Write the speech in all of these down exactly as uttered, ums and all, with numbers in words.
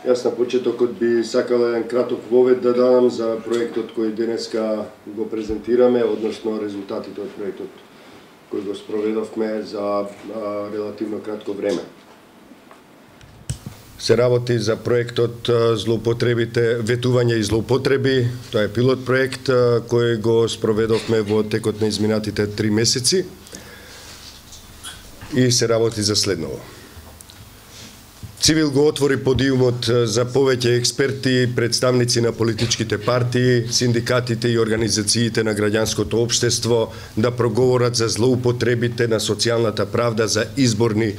Јас на почетокот би сакал еден краток вовед да дадам за проектот кој денеска го презентираме, односно резултатите од проектот кој го спроведовме за а, релативно кратко време. Се работи за проектот злоупотребите, ветување и злоупотреби. Тоа е пилот проект кој го спроведовме во текот на изминатите три месеци и се работи за следново. Цивил го отвори подиумот за повеќе експерти, представници на политичките партии, синдикатите и организациите на граѓанското општество да проговорат за злоупотребите на социјалната правда за изборни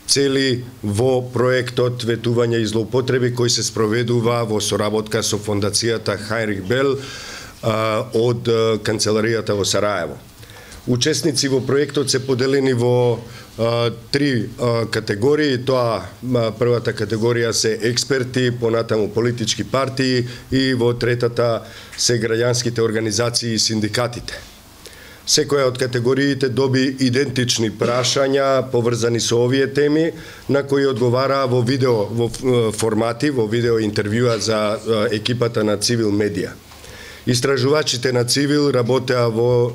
цели во проектот ветување и злоупотреби кој се спроведува во соработка со фондацијата Хайнрих Бел а, од канцеларијата во Сараево. Учесници во проектот се поделени во а, три а, категории. Тоа а, првата категорија се експерти, понатаму политички партии и во третата се граѓанските организации и синдикатите. Секоја од категориите доби идентични прашања поврзани со овие теми, на кои одговара во видео во формати, во видео интервјуа за екипата на Цивил медија. Истражувачите на Цивил работеа во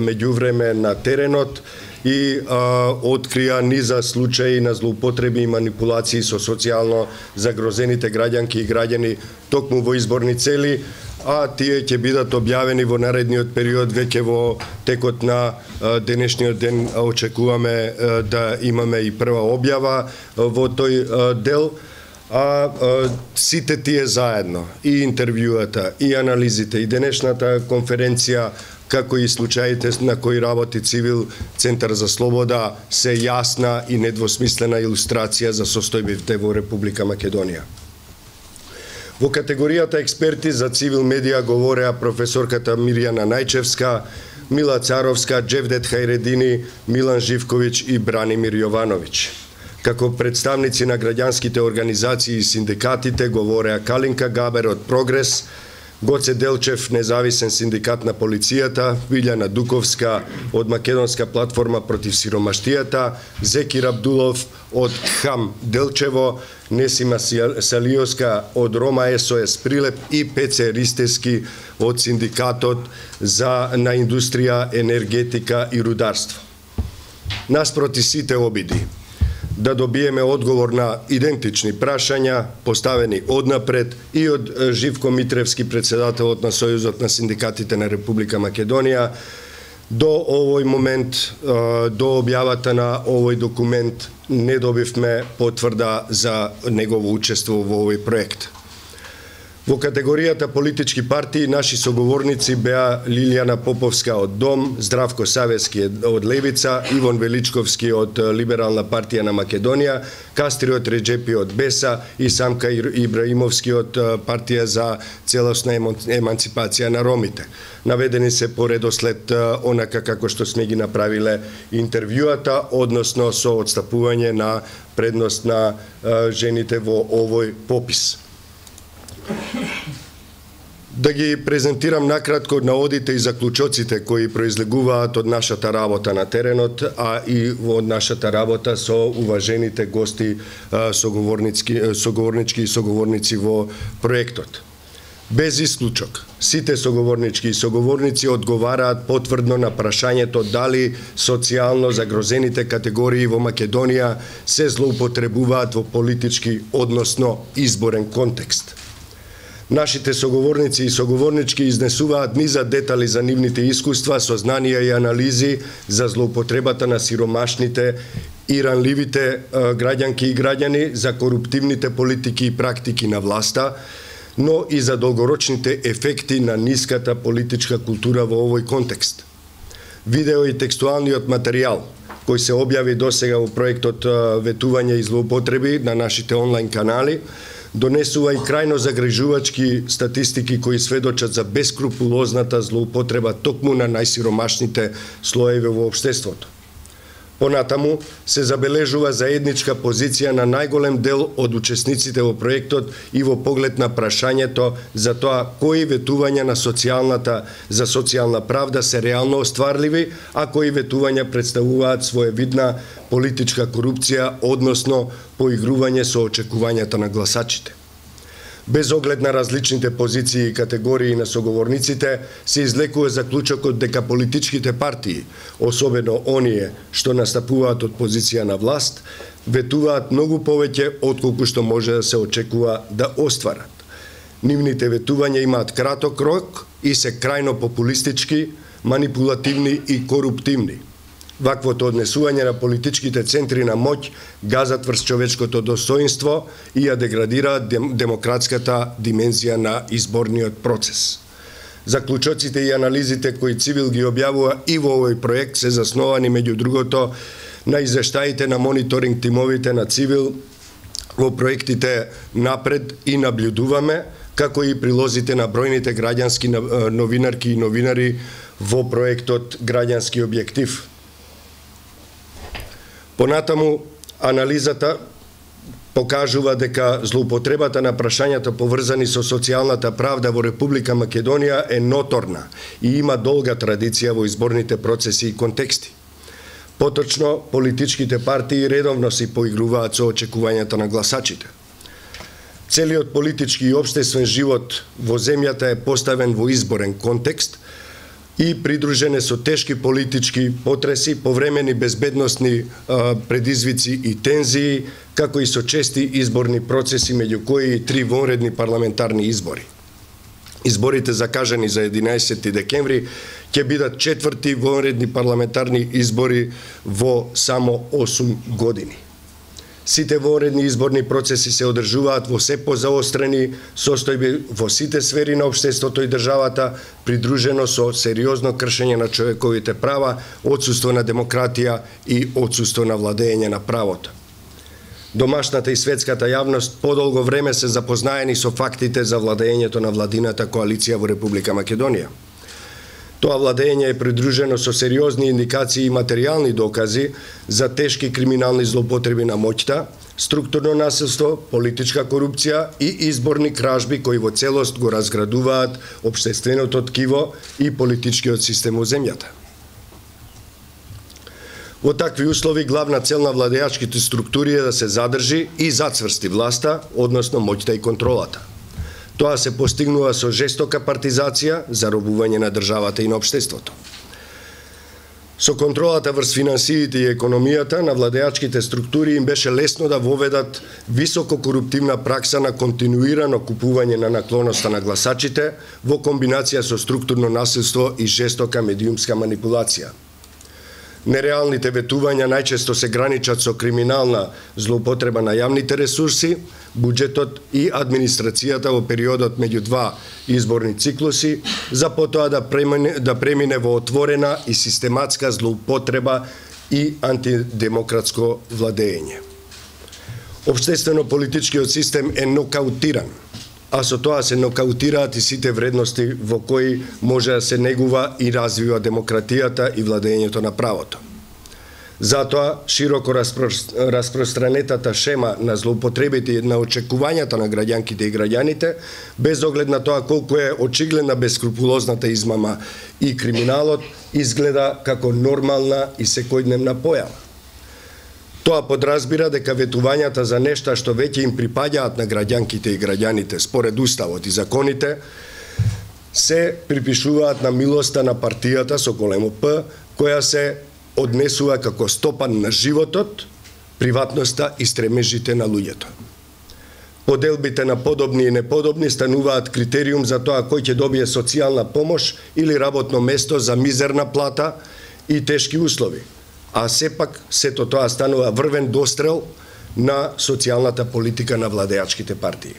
меѓувреме на теренот и а, открија низа случаи на злоупотреби и манипулации со социјално загрозените граѓанки и граѓани токму во изборни цели, а тие ќе бидат објавени во наредниот период. Веќе во текот на а, денешниот ден очекуваме а, да имаме и прва објава а, во тој а, дел. А, а сите тие заедно, и интервјуата, и анализите, и денешната конференција, како и случаите на кои работи Цивил Центар за слобода, се јасна и недвосмислена илустрација за состојбите во Република Македонија. Во категоријата експерти за Цивил медија говореа професорката Мирјана Најчевска, Мила Царовска, Джевдет Хајредини, Милан Живковиќ и Бранимир Јовановиќ. Како представници на граѓанските организации и синдикатите говореа Калинка Габер од Прогрес, Гоце Делчев, независен синдикат на полицијата, Вилјана Дуковска од Македонска платформа против сиромаштијата, Зекир Абдулов од Хам Делчево, Несима Салиоска од Рома СОС Прилеп и Пеце Ристески од Синдикатот за на индустрија, енергетика и рударство. Наспроти сите обиди да добиеме одговор на идентични прашања, поставени однапред и од Живко Митревски, председателот на Сојузот на синдикатите на Република Македонија, до овој момент, до објавата на овој документ, не добивме потврда за негово учество во овој проект. Во категоријата политички партии наши соговорници беа Лилијана Поповска од Дом, Здравко Савески од Левица, Ивон Величковски од Либерална партија на Македонија, Кастриот Реджепи од Беса и Самка Ибраимовски од партија за целосна еманципација на ромите. Наведени се по редослед онака како што сме ги направиле интервјуата, односно со одстапување на предност на жените во овој попис. Да ги презентирам накратко наводите и заклучоците кои произлегуваат од нашата работа на теренот, а и од нашата работа со уважените гости, соговорнички, соговорнички и соговорници во проектот. Без исклучок, сите соговорнички и соговорници одговараат потврдно на прашањето дали социјално загрозените категории во Македонија се злоупотребуваат во политички, односно изборен контекст. Нашите соговорници и соговорнички изнесуваат низа детали за нивните искуства, сознанија и анализи за злоупотребата на сиромашните и ранливите граѓанки и граѓани, за коруптивните политики и практики на власта, но и за долгорочните ефекти на ниската политичка култура во овој контекст. Видео и текстуалниот материјал кој се објави досега во проектот ветување и злоупотреби на нашите онлайн канали, донесува и крајно загрижувачки статистики кои сведочат за бескрупулозната злоупотреба токму на најсиромашните слоеви во општеството. Понатаму се забележува заедничка позиција на најголем дел од учесниците во проектот и во поглед на прашањето за тоа кои ветувања на социјалната за социјална правда се реално остварливи, а кои ветувања представуваат своевидна политичка корупција, односно поигрување со очекувањата на гласачите. Без оглед на различните позиции и категории на соговорниците, се излекува заклучокот дека политичките партии, особено оние што настапуваат од позиција на власт, ветуваат многу повеќе отколку што може да се очекува да остварат. Нивните ветувања имаат краток рок и се крајно популистички, манипулативни и коруптивни. Ваквото однесување на политичките центри на моќ газат врз човечкото достоинство и ја деградираат дем, демократската димензија на изборниот процес. Заклучоците и анализите кои Цивил ги објавува и во овој проект се засновани меѓу другото на извештаите на мониторинг тимовите на Цивил во проектите Напред и Наблюдуваме, како и прилозите на бројните граѓански новинарки и новинари во проектот Граѓански објектив. Понатаму, анализата покажува дека злоупотребата на прашањата поврзани со социјалната правда во Република Македонија е ноторна и има долга традиција во изборните процеси и контексти. Поточно, политичките партии редовно се поигруваат со очекувањата на гласачите. Целиот политички и општествен живот во земјата е поставен во изборен контекст и придружен е со тешки политички потреси, повремени безбедносни а, предизвици и тензии, како и со чести изборни процеси, меѓу кои и три вонредни парламентарни избори. Изборите закажани за единаесети декември ќе бидат четврти вонредни парламентарни избори во само осум години. Сите вонредни изборни процеси се одржуваат во се позаострени состојби во сите сфери на општеството и државата, придружено со сериозно кршење на човековите права, отсуство на демократија и отсуство на владење на правото. Домашната и светската јавност подолго време се запознаени со фактите за владењето на владината коалиција во Република Македонија. Тоа владење е придружено со сериозни индикации и материјални докази за тешки криминални злоупотреби на моќта, структурно насилство, политичка корупција и изборни кражби кои во целост го разградуваат општественото ткиво и политичкиот систем во земјата. Во такви услови главна цел на владеачките структури е да се задржи и зацврсти власта, односно моќта и контролата. Тоа се постигнува со жестока партизација, заробување на државата и на општеството. Со контролата врз финансиите и економијата на владеачките структури им беше лесно да воведат високо коруптивна пракса на континуирано купување на наклоноста на гласачите во комбинација со структурно насилство и жестока медиумска манипулација. Нереалните ветувања најчесто се граничат со криминална злоупотреба на јавните ресурси, буџетот и администрацијата во периодот меѓу два изборни циклуси, за потоа да премине, да премине во отворена и систематска злоупотреба и антидемократско владење. Општествено-политичкиот систем е нокаутиран, а со тоа се нокаутираат и сите вредности во кои може да се негува и развива демократијата и владењето на правото. Затоа, широко распространетата шема на злоупотребите и на очекувањата на граѓанките и граѓаните, без оглед на тоа колку е очигледна бескрупулозната измама и криминалот, изгледа како нормална и секојдневна појава. Тоа подразбира дека ветувањата за нешта што веќе им припаѓаат на граѓанките и граѓаните според уставот и законите, се припишуваат на милоста на партијата со големо П, која се однесува како стопан на животот, приватноста и стремежите на луѓето. Поделбите на подобни и неподобни стануваат критериум за тоа кој ќе добие социјална помош или работно место за мизерна плата и тешки услови, а сепак сето тоа станува врвен дострел на социјалната политика на владеачките партии.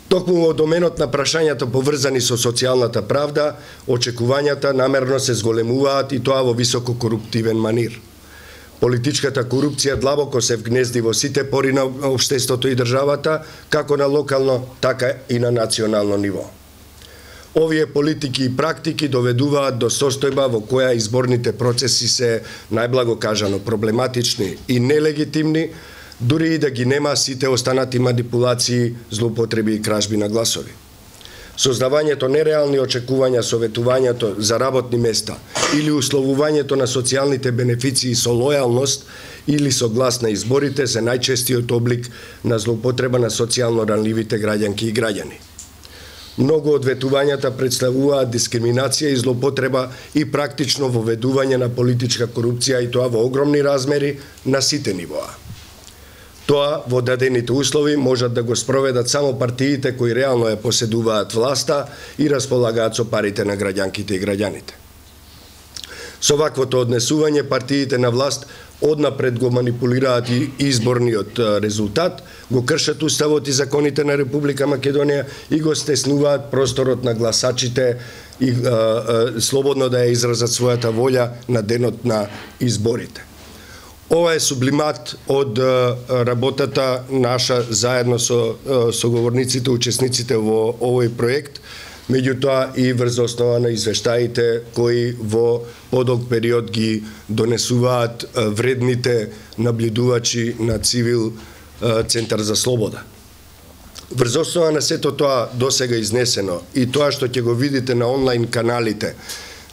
Токму во доменот на прашањата поврзани со социјалната правда, очекувањата намерно се зголемуваат и тоа во високо коруптивен манир. Политичката корупција длабоко се вгнезди во сите пори на општеството и државата, како на локално, така и на национално ниво. Овие политики и практики доведуваат до состојба во која изборните процеси се, најблаго кажано, проблематични и нелегитимни, дури и да ги нема сите останати манипулации, злоупотреби и кражби на гласови. Создавањето нереални очекувања, советувањето за работни места или условувањето на социјалните бенефиции со лојалност или со глас на изборите се најчестиот облик на злоупотреба на социјално ранливите граѓанки и граѓани. Многу од ветувањата представуваат дискриминација и злоупотреба и практично воведување на политичка корупција, и тоа во огромни размери на сите нивоа. Тоа во дадените услови можат да го спроведат само партиите кои реално ја поседуваат власта и располагаат со парите на граѓанките и граѓаните. Со ваквото однесување партиите на власт однапред го манипулираат и изборниот резултат, го кршат уставот и законите на Република Македонија и го стеснуваат просторот на гласачите и а, а, слободно да ја изразат својата волја на денот на изборите. Ова е сублимат од работата наша заедно со соговорниците, учесниците во овој проект, меѓутоа и врз основа на извештаите кои во подолг период ги донесуваат вредните наблюдувачи на Цивил Центар за слобода. Врз основа на сето тоа досега изнесено и тоа што ќе го видите на онлайн каналите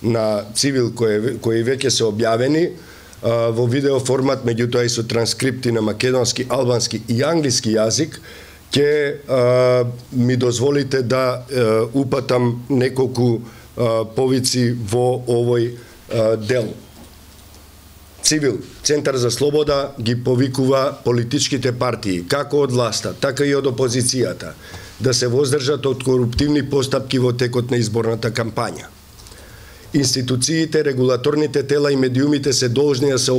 на Цивил кои, кои веќе се објавени во видео формат, меѓутоа и со транскрипти на македонски, албански и англиски јазик, ќе ми дозволите да а, упатам неколку а, повици во овој а, дел. Цивил, Центар за слобода ги повикува политичките партии, како од власта, така и од опозицијата, да се воздржат од коруптивни постапки во текот на изборната кампања. Институциите, регулаторните тела и медиумите се должни да се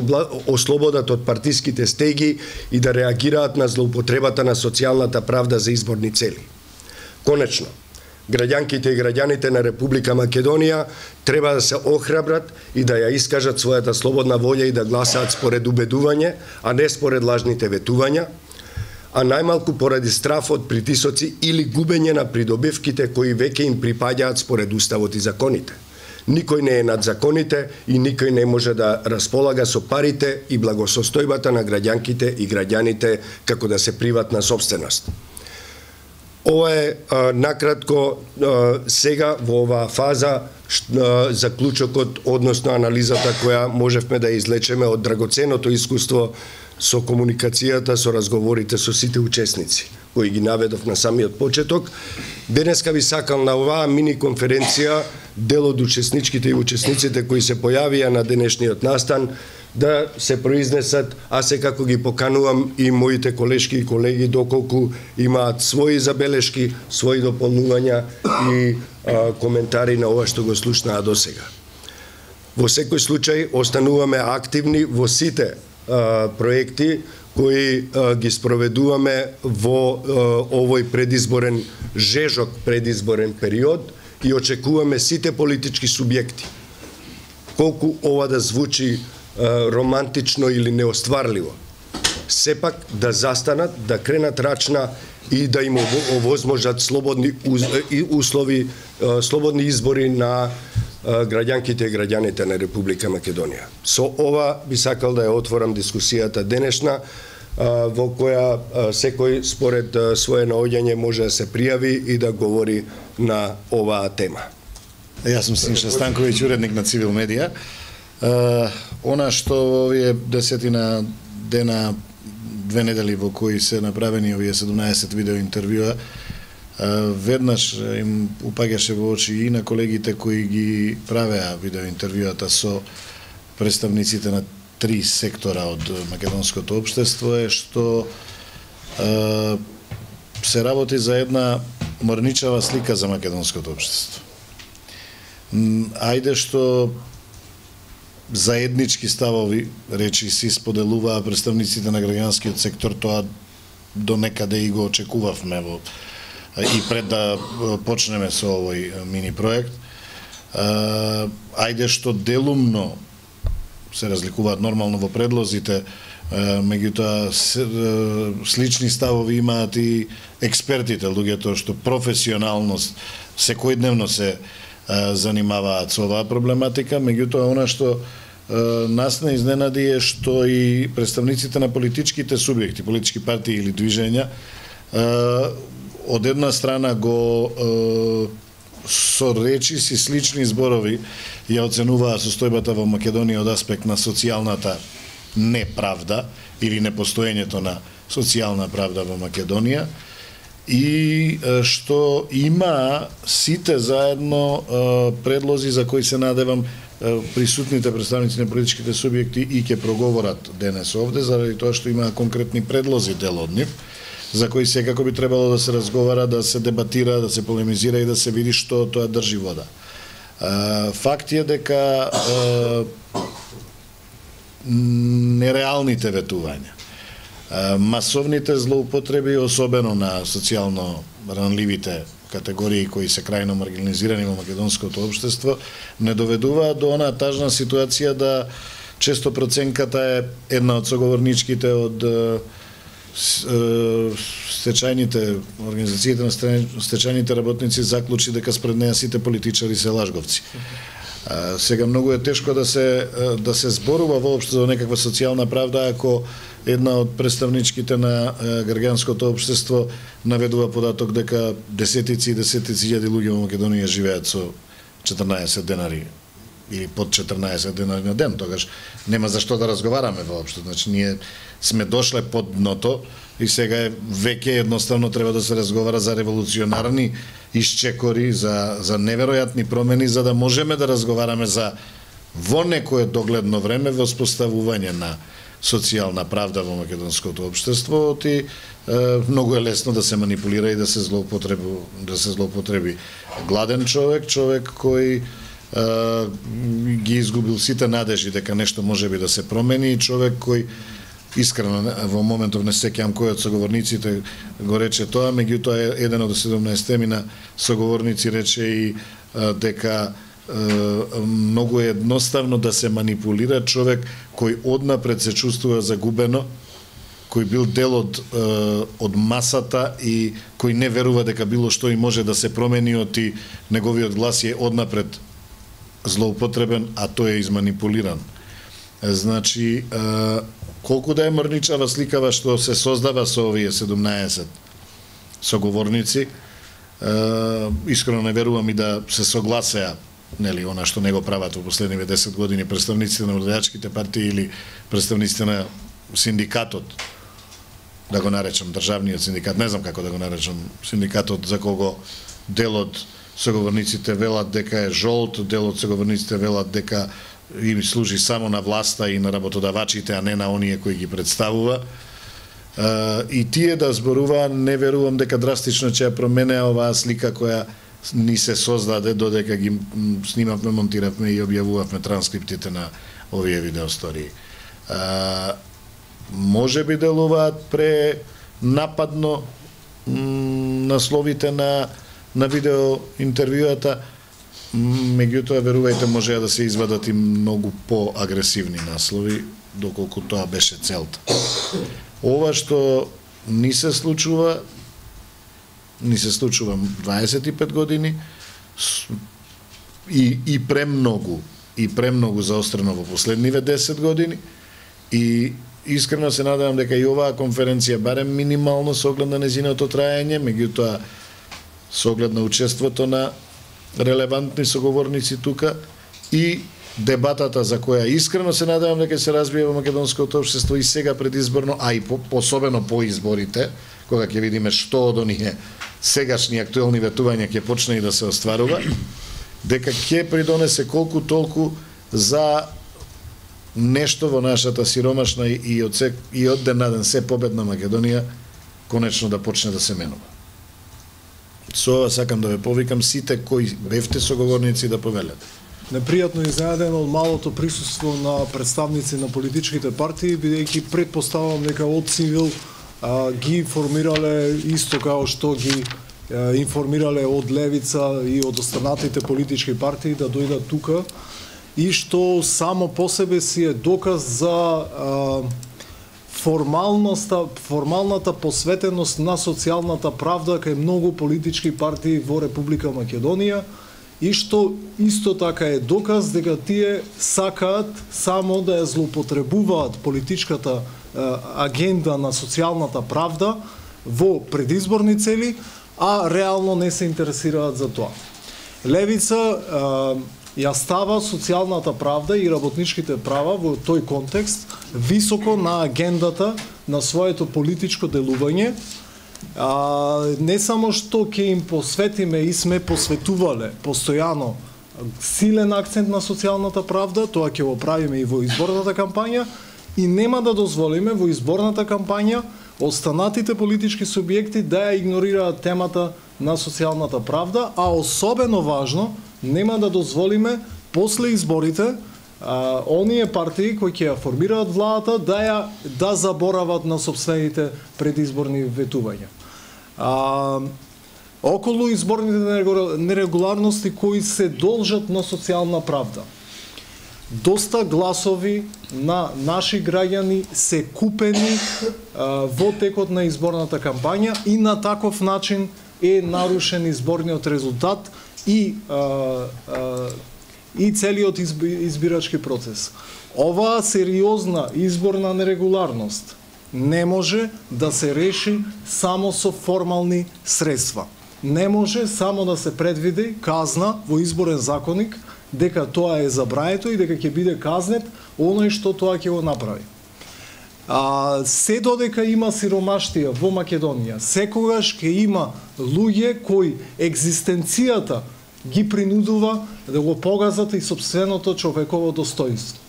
ослободат од партиските стеги и да реагираат на злоупотребата на социјалната правда за изборни цели. Конечно, граѓанките и граѓаните на Република Македонија треба да се охрабрат и да ја искажат својата слободна волја и да гласаат според убедување, а не според лажните ветувања, а најмалку поради страф од притисоци или губење на придобивките кои веќе им припаѓаат според уставот и законите. Никој не е над законите и никој не може да располага со парите и благосостојбата на граѓанките и граѓаните како да се приватна сопственост. Ова е а, накратко а, сега во оваа фаза а, заклучокот, односно анализата која можевме да излечеме од драгоценото искуство со комуникацијата, со разговорите со сите учесници, кои ги наведов на самиот почеток. Денеска ви сакам на оваа мини конференција дел од учесничките и учесниците кои се појавија на денешниот настан да се произнесат, а секако ги поканувам и моите колешки и колеги доколку имаат своји забелешки, своји дополнувања и а, коментари на ова што го слушнаа досега. Во секој случај остануваме активни во сите а, проекти кои а, ги спроведуваме во а, овој предизборен жежок предизборен период и очекуваме сите политички субјекти, колку ова да звучи а, романтично или неостварливо, сепак да застанат, да кренат рачна и да им овозможат слободни услови, а, слободни избори на а, граѓанките и граѓаните на Република Македонија. Со ова би сакал да ја отворам дискусијата денешна, во која секој според своје наоѓање може да се пријави и да говори на оваа тема. Јас сум Синша Станковиќ, уредник на Цивил Медија. Она што овие десетина дена, две недели во кои се направени овие седумнаесет видео интервјуа, веднаш им упаѓаше во очи и на колегите кои ги правеа видео интервјуата со представниците на три сектора од македонското општество е што е, се работи за една морничава слика за македонското општество. Ајде што заеднички ставови, речи си, споделуваа представниците на граѓанскиот сектор, тоа до некаде и го очекувавме во, и пред да почнеме со овој мини проект. Ајде што делумно се разликуваат нормално во предлозите, меѓутоа слични ставови имаат и експертите, луѓето што професионалност секојдневно се занимаваат со оваа проблематика, меѓутоа она што нас не изненади е што и представниците на политичките субјекти, политички партии или движења од една страна го е, со речиси слични зборови ја оценуваа состојбата во Македонија од аспект на социјалната неправда или непостоењето на социјална правда во Македонија и што има сите заедно предлози за кои се надевам присутните представници на политичките субјекти и ќе проговорат денес овде, заради тоа што има конкретни предлози дел од нив, за кои секако би требало да се разговара, да се дебатира, да се полемизира и да се види што тоа држи вода. Факт е дека нереалните ветувања, масовните злоупотреби, особено на социјално ранливите категории кои се крајно маргинализирани во македонското општество, не доведуваат до онаа тажна ситуација да често проценката е една од соговорничките од стечајните организациите на стечајните работници заклучи дека спред неја сите политичари се лажговци. А, сега многу е тешко да се да се зборува воопшто за некаква социјална правда ако една од представничките на граѓанското општество наведува податок дека десетици и десетици илјади луѓе во Македонија живеат со четрнаесет денари или под четрнаесет денари на ден, тогаш нема за што да разговараме воопшто. Значи ние сме дошле под дното и сега е веќе едноставно треба да се разговара за револуционарни исчекори, за за неверојатни промени за да можеме да разговараме за во некое догледно време воспоставување на социјална правда во македонското општество, и е, многу е лесно да се манипулира и да се злоупотреби да се злоупотреби гладен човек, човек кој Uh, ги изгубил сите надежи дека нешто може би да се промени, човек кој искрено во моментов не сеќавам кој од соговорниците го рече тоа, меѓутоа еден од седумнаесет соговорници рече и uh, дека uh, многу е едноставно да се манипулира човек кој однапред се чувствува загубено, кој бил дел од, uh, од масата и кој не верува дека било што и може да се промени од и неговиот глас е однапред злоупотребен, а тој е изманипулиран. Значи, колку да е мрничава сликава што се создава со овие седумнаесет соговорници, искрено не верувам и да се согласеа, нели, она што не го прават во последниве десет години представниците на младежките партии или представниците на синдикатот, да го наречам државниот синдикат, не знам како да го наречам синдикатот, за кого дел од соговорниците велат дека е жолт, дел од соговорниците велат дека им служи само на власта и на работодавачите, а не на оние кои ги представува. И тие да зборува, не верувам дека драстично ќе ја промене оваа слика која ни се создаде додека ги снимавме, монтиравме и објавувавме транскриптите на овие видеостории. Може би делуваат пренападно насловите на на видео интервјуата, меѓутоа верувајте можеа да се извадат и многу поагресивни наслови, доколку тоа беше целта. Ова што ни се случува, ни се случува дваесет и пет години и, и премногу, и премногу заострено во последниве десет години и искрено се надевам дека и оваа конференција, барем минимално со оглед на незиното траење, меѓутоа со оглед на учеството на релевантни соговорници тука и дебатата за која искрено се надевам дека се развие во македонското општество и сега предизборно, а и по, особено по изборите, кога ќе видиме што од оние сегашни актуелни ветувања ќе почне и да се остварува, дека ќе придонесе колку толку за нешто во нашата сиромашна и од, се, и од ден на ден се победна Македонија конечно да почне да се менува. Со ова сакам да ве повикам сите кои бевте соговорници да повелете. Непријатно изненаден од малото присуство на представници на политичките партии, бидејќи предпоставам дека од цивил а, ги информирале исто како што ги а, информирале од левица и од останатите политички партии да дојдат тука и што само по себе си е доказ за а, формалноста, формалната посветеност на социјалната правда кај многу политички партии во Република Македонија и што исто така е доказ дека тие сакаат само да ја злоупотребуваат политичката а, агенда на социјалната правда во предизборни цели, а реално не се интересираат за тоа. Левица ја става социјалната правда и работничките права во тој контекст високо на агендата на своето политичко делување. А, не само што ќе им посветиме и сме посветувале постојано силен акцент на социјалната правда, тоа ќе го правиме и во изборната кампања, и нема да дозволиме во изборната кампања останатите политички субјекти да ја игнорираат темата на социјалната правда, а особено важно, нема да дозволиме после изборите а, оние партии кои ќе ја формираат владата да ја да заборават на сопствените предизборни ветувања. А, околу изборните нерегуларности кои се должат на социјална правда. Доста гласови на наши граѓани се купени а, во текот на изборната кампања и на таков начин е нарушен изборниот резултат и а, а, и целиот избирачки процес. Оваа сериозна изборна нерегуларност не може да се реши само со формални средства. Не може само да се предвиди казна во изборен законник дека тоа е забрането и дека ќе биде казнет оној што тоа ќе го направи. А, се додека има сиромаштија во Македонија, секогаш ќе има луѓе кои екзистенцијата ги принудува да го погазат и сопственото човеково достоинство.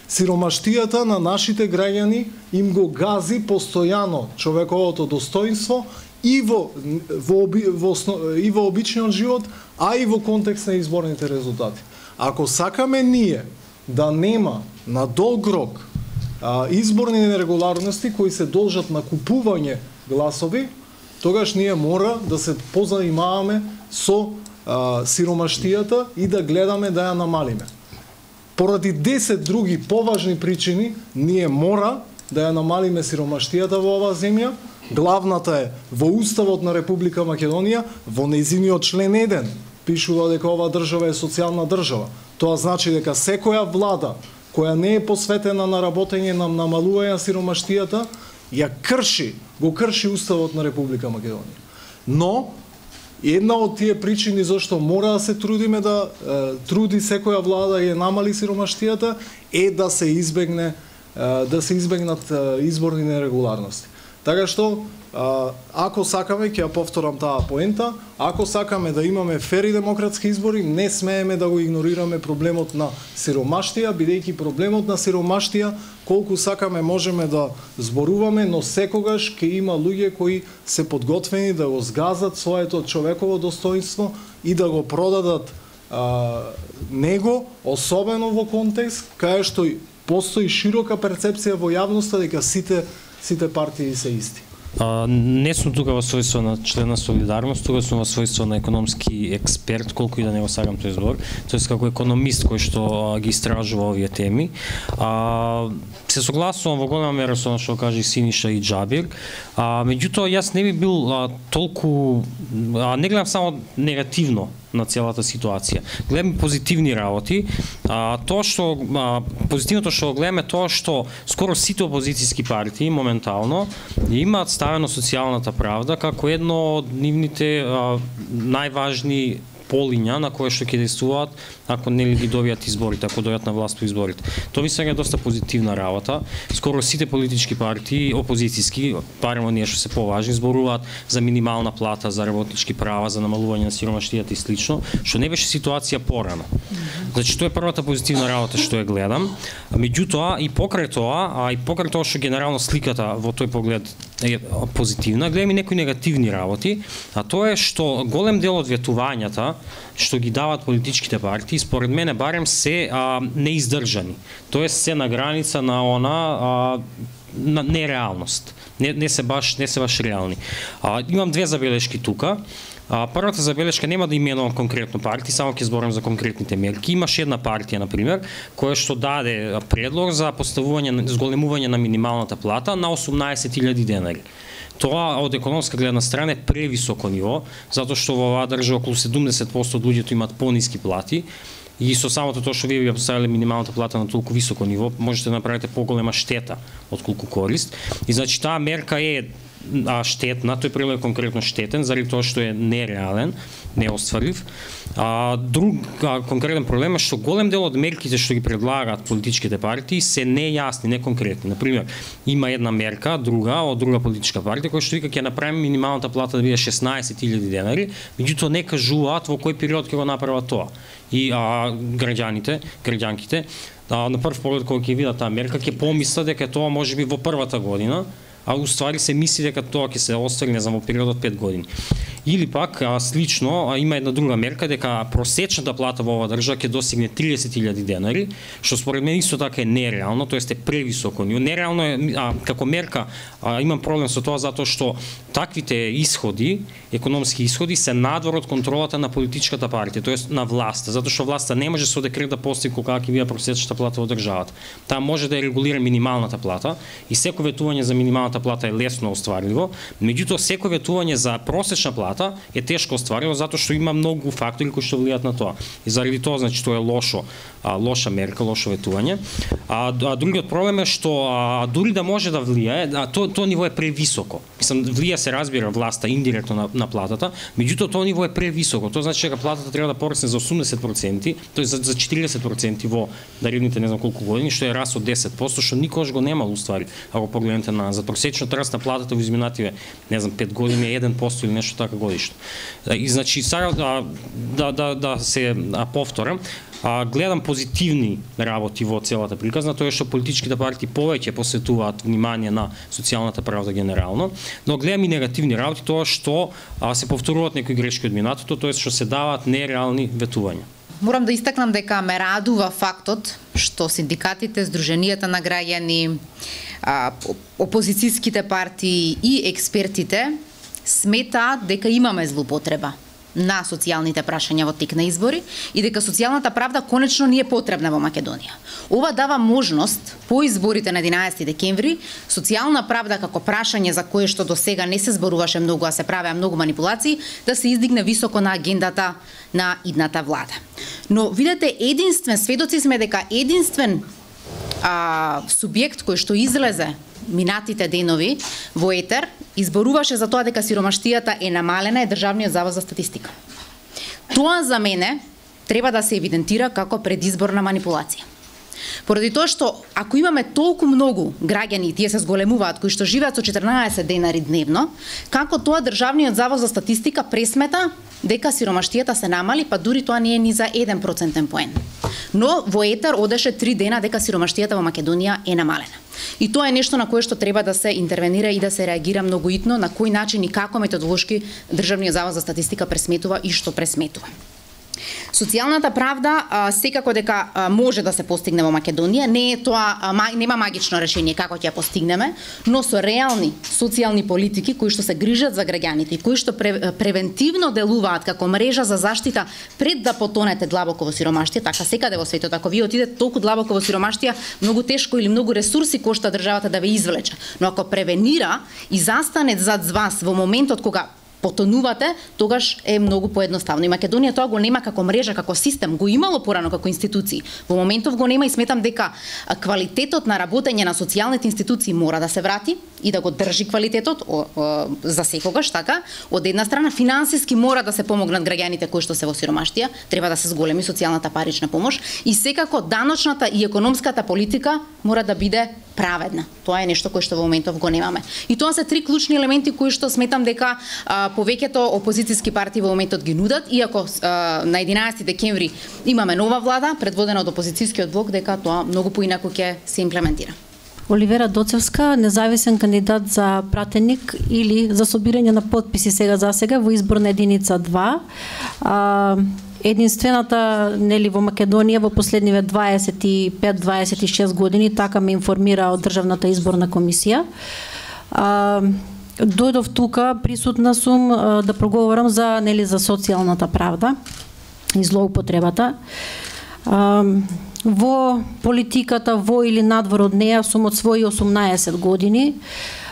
Сиромаштијата на нашите граѓани им го гази постојано човековото достоинство и во, во, во, и во обичниот живот, а и во контекст на изборните резултати. Ако сакаме ние да нема на долг рок а, изборни нерегуларности кои се должат на купување гласови, тогаш ние мора да се позанимаваме со а, сиромаштијата и да гледаме да ја намалиме. Поради десет други поважни причини, ние мора да ја намалиме сиромаштијата во оваа земја. Главната е во Уставот на Република Македонија, во нејзиниот член еден, пишува дека оваа држава е социјална држава. Тоа значи дека секоја влада која не е посветена на работење на намалување на сиромаштијата, ја крши, го крши Уставот на Република Македонија. Но една од тие причини зашто мора да се трудиме да е, труди секоја влада да ја намали сиромаштијата е да се избегне е, да се избегнат е, изборни нерегуларности. Така што ако сакаме, ќе ја повторам таа поента, ако сакаме да имаме фер и демократски избори, не смееме да го игнорираме проблемот на сиромаштија, бидејќи проблемот на сиромаштија колку сакаме можеме да зборуваме, но секогаш ќе има луѓе кои се подготвени да го згазат своето човеково достоинство и да го продадат а, него, особено во контекст кај што постои широка перцепција во јавноста дека сите сите партии се исти. А, не сум тука во својство на член на Солидарност, тука сум во својство на економски експерт, колку и да не го сакам тој збор, тоест како економист кој што а, ги истражува овие теми. А, се согласувам во голема мера со она што кажа и Синиша и Џабир, а, меѓутоа јас не би бил а, толку, а, не гледам само негативно на целата ситуација. Гледам позитивни работи. А, тоа што а, позитивното што гледаме тоа што скоро сите опозицијски партии моментално имаат ставено социјалната правда како едно од нивните а, најважни полиња на кои што ќе действуваат ако нели ги добијат изборите, ако дојдат на власт по изборите. Тоа мислам е доста позитивна работа. Скоро сите политички партии, опозицијски, барем оние што се поважни, зборуваат за минимална плата, за работнички права, за намалување на сиромаштијата и слично, што не беше ситуација порано. Значи тоа е првата позитивна работа што ја гледам. Меѓутоа и покрај тоа, а и покрај тоа што генерално сликата во тој поглед е позитивна, гледам и некои негативни работи, а тоа е што голем дел од ветувањата што ги дават политичките партии, според мене барем се а, неиздржани. Тоест се на граница на она а, на нереалност. Не, не се баш не се баш реални. А, имам две забелешки тука. А, првата забелешка нема да именувам конкретно партии, само ќе зборам за конкретните мерки. Имаше една партија на пример која што даде предлог за поставување зголемување на минималната плата на осумнаесет илјади денари. Тоа од економска гледна страна е превисоко ниво, затоа што во оваа држава околу седумдесет проценти од луѓето имаат пониски плати. И со самото тоа што вие ја поставиле минималната плата на толку високо ниво, можете да направите поголема штета од колку корист. И значи таа мерка е а, штетна, тој предлог е конкретно штетен заради тоа што е нереален, неостварив. А, друг а, конкретен проблем е што голем дел од мерките што ги предлагаат политичките партии се нејасни, неконкретни. Например, има една мерка, друга од друга политичка партија која што вика ќе направи минималната плата да биде шеснаесет илјади денари, меѓутоа не кажуваат во кој период ќе го направат тоа. И а, граѓаните, граѓанките, а, на прв поглед кога ќе видат таа мерка ќе помислат дека тоа можеби во првата година, а уствари се мисли дека тоа ќе се оствари, не знам, во период од пет години. Или пак, а, слично, а, има една друга мерка дека просечната плата во оваа држава ќе достигне триесет илјади денари, што според мен исто така е нереално, тоест е превисоко. Нереално е, а, како мерка, а, имам проблем со тоа затоа што таквите исходи, економски исходи, се надвор од контролата на политичката партија, тоест на власта, затоа што власта не може со декрет да постигне колка ќе биде просечната плата во државата. Таа може да ја регулира минималната плата и секој ветување за минималната плата е лесно остварливо, меѓутоа секој ветување за просечна плата е тешко оствариво затоа што има многу фактори кои што влијаат на тоа. И заради тоа значи тоа е лошо, а, лоша мерка, лошо ветување. А, а другиот проблем е што а, дури да може да влијае, а тоа тоа ниво е превисоко. Мислам, влијае се разбира власта индиректно на, на платата, меѓутоа тоа ниво е превисоко. Тоа значи дека платата треба да порасне за осумдесет проценти, тоест за, за четириесет проценти во наредните не знам колку години, што е раст од десет проценти, што никогаш го немало уствари. Ако погледнете на за просечниот раст на платата во изминативе, не знам, пет години е еден процент или нешто така годишно. И значи сега да да да, да се а, повторам, а, гледам позитивни работи во целата приказна, тоа е што политичките партии повеќе посветуваат внимание на социјалната правда генерално, но гледам и негативни работи, тоа што а, се повторуваат некои грешки од минатото, тоа е што се даваат нереални ветувања. Морам да истакнам дека ме радува фактот што синдикатите, здруженијата на граѓани, опозицијските партии и експертите сметаат дека имаме злоупотреба на социјалните прашања во тек на избори и дека социјалната правда конечно ни е потребна во Македонија. Ова дава можност по изборите на единаесети декември социјална правда како прашање за кое што до сега не се зборуваше многу, а се правеа многу манипулации, да се издигне високо на агендата на идната влада. Но видете, единствен сведоци сме дека единствен а, субјект кој што излезе минатите денови во етер изборуваше за тоа дека сиромаштијата е намалена е Државниот завод за статистика. Тоа за мене треба да се евидентира како предизборна манипулација. Поради тоа што ако имаме толку многу граѓани, тие се зголемуваат, кои што живеат со четрнаесет денари дневно, како тоа Државниот завод за статистика пресмета дека сиромаштијата се намали, па дури тоа не е ни за еден процентен поен. Но во етер одеше три дена дека сиромаштијата во Македонија е намалена. И тоа е нешто на кое што треба да се интервенира и да се реагира многу итно, на кој начин и како методолошки Државниот завод за статистика пресметува и што пресметува. Социјалната правда а, секако дека а, може да се постигне во Македонија, не е тоа а, ма, нема магично решение како ќе ја постигнеме, но со реални социјални политики кои што се грижат за граѓаните и кои што пре, превентивно делуваат како мрежа за заштита пред да потонете длабоко во сиромаштија, така секаде во светот, ако вие отидете толку длабоко во сиромаштија, многу тешко или многу ресурси кошта државата да ве извлече. Но ако превенира и застане зад вас во моментот кога потонувате, тогаш е многу поедноставно. И Македонија тоа го нема како мрежа, како систем, го имало порано како институции. Во моментов го нема и сметам дека квалитетот на работење на социјалните институции мора да се врати и да го држи квалитетот о, о, за секогаш, така. Од една страна финансиски мора да се помогнат граѓаните кои што се во сиромаштија, треба да се зголеми социјалната парична помош и секако даночната и економската политика мора да биде праведна. Тоа е нешто кое што во моментов го немаме. И тоа се три клучни елементи кои што сметам дека а, повеќето опозицијски партии во моментот ги нудат, иако а, на единаесети декември имаме нова влада предводена од опозицијскиот блок, дека тоа многу поинаку ќе се имплементира. Оливера Доцевска, независен кандидат за пратеник или за собирање на потписи сега за сега во изборна единица два. А, единствената нели во Македонија во последниве дваесет и пет дваесет и шест години, така ме информира од Државната изборна комисија. А, дојдов тука, присутна сум а, да проговорам за нели за социјалната правда и злоупотребата. А, во политиката, во или надвор од неја сум од своји осумнаесет години.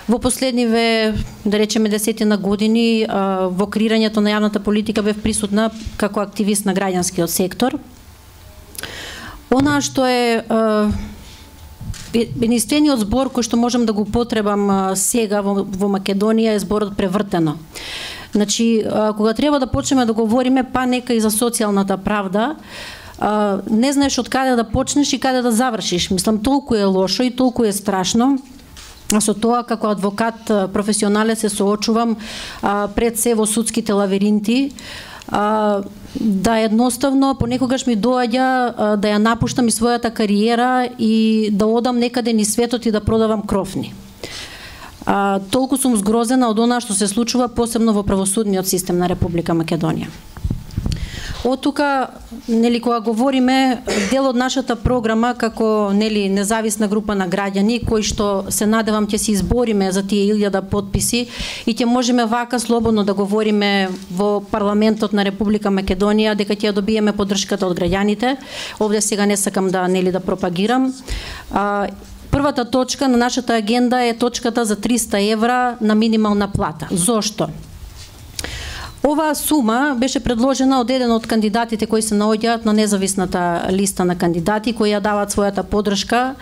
Во последниве, да речеме, десетина години во креирањето на јавната политика бев присутна како активист на граѓанскиот сектор. Она што е единствениот збор кој што можам да го потребам сега во, во Македонија е зборот превртено. Значи, кога треба да почнеме да говориме, па нека и за социјалната правда, не знаеш од каде да почнеш и каде да завршиш. Мислам, толку е лошо и толку е страшно. А со тоа, како адвокат професионален, се соочувам а, пред се во судските лавиринти, а, да едноставно понекогаш ми доаѓа а, да ја напуштам и својата кариера и да одам некаде низ светот и да продавам крофни. А, толку сум згрозена од она што се случува, посебно во правосудниот систем на Република Македонија. Од тука, нели, кога говориме, дел од нашата програма како, нели, независна група на граѓани, кои што се надевам ќе се избориме за тие илјада подписи и ќе можеме вака слободно да говориме во парламентот на Република Македонија дека ќе ја добиеме поддршката од граѓаните. Овде сега не сакам да, нели, да пропагирам. А, првата точка на нашата агенда е точката за триста евра на минимална плата. Зошто? Оваа сума беше предложена од еден од кандидатите кои се наоѓаат на независната листа на кандидати кои ја даваат својата поддршка.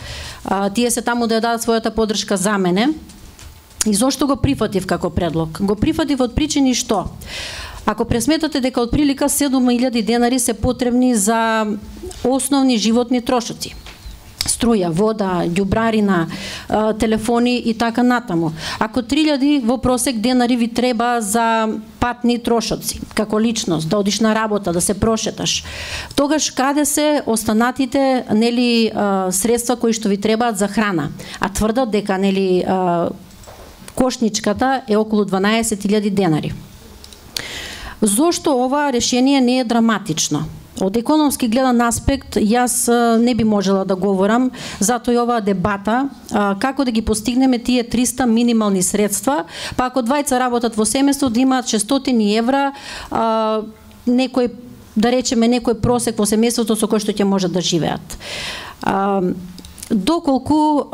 А, тие се таму да ја дадат својата поддршка за мене. И зошто го прифатив како предлог? Го прифатив од причини што? Ако пресметате дека отприлика седум илјади денари се потребни за основни животни трошоци, струја, вода, ѓубрарина, телефони и така натаму. Ако три илјади во просек денари ви треба за патни трошоци, како личност, да одиш на работа, да се прошеташ, тогаш каде се останатите, нели, средства кои што ви требаат за храна? А тврдат дека, нели, кошничката е околу дванаесет илјади денари. Зошто ова решение не е драматично? Од економски гледан аспект, јас не би можела да говорам, затоа и оваа дебата, како да ги постигнеме тие триста минимални средства, па ако двајца работат во семејство да имаат шестстотини евра, некој, да речеме, некој просек во семејството со кој што ќе можат да живеат. Доколку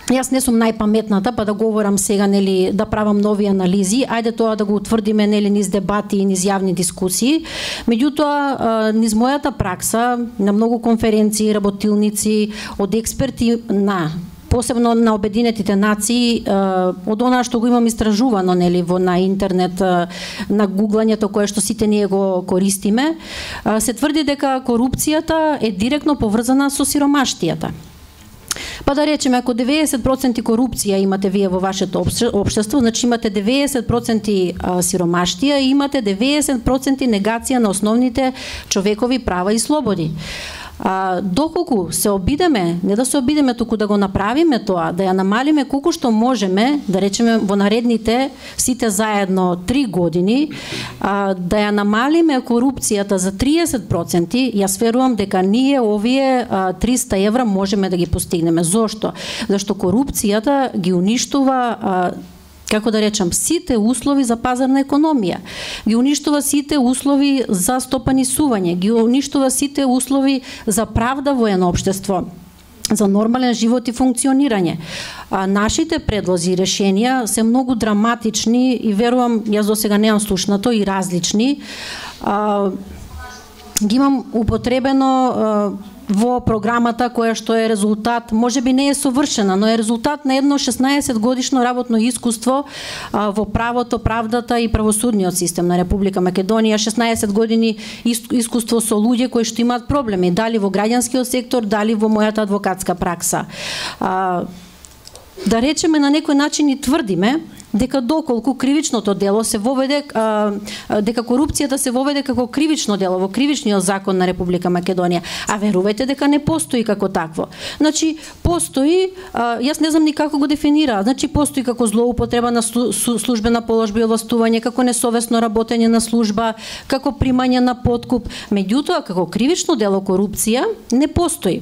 јас не сум најпаметната, па да говорам сега, нели, да правам нови анализи, ајде тоа да го утврдиме, нели, низ дебати и низ јавни дискусии. Меѓутоа, низ мојата пракса, на многу конференции, работилници, од експерти на посебно на Обединетите нации, од она што го имам истражувано, нели, во на интернет, на гуглањето кое што сите ние го користиме, се тврди дека корупцијата е директно поврзана со сиромаштијата. Па да речеме, ако деветдесет проценти корупција имате вие во вашето општество, значи имате деветдесет проценти сиромаштија и имате деветдесет проценти негација на основните човекови права и слободи. А, доколку се обидеме, не да се обидеме, туку да го направиме тоа, да ја намалиме колку што можеме, да речеме во наредните сите заедно три години, а, да ја намалиме корупцијата за триесет проценти, јас верувам дека ние овие а, триста евра можеме да ги постигнеме. Зошто? Зашто корупцијата ги уништува, а, како да речам, сите услови за пазарна економија, ги уништува сите услови за стопанисување, ги уништува сите услови за правда во едно општество, за нормален живот и функционирање. А, нашите предлози и решенија се многу драматични и верувам, јас до сега немам слушнато, и различни. А, ги имам употребено а, во програмата која што е резултат, можеби не е совршена, но е резултат на едно шеснаесет годишно работно искуство а, во правото, правдата и правосудниот систем на Република Македонија, шеснаесет години искуство со луѓе кои што имаат проблеми, дали во граѓанскиот сектор, дали во мојата адвокатска пракса. А, да речеме, на некој начин и тврдиме дека доколку кривичното дело се воведе, а, дека корупцијата се воведе како кривично дело во кривичниот закон на Република Македонија, а верувајте дека не постои како такво. Значи, постои, а, јас не знам ни како го дефинира, значи постои како злоупотреба на службена положба и овластување, како несовесно работење на служба, како примање на подкуп, меѓутоа како кривично дело корупција не постои.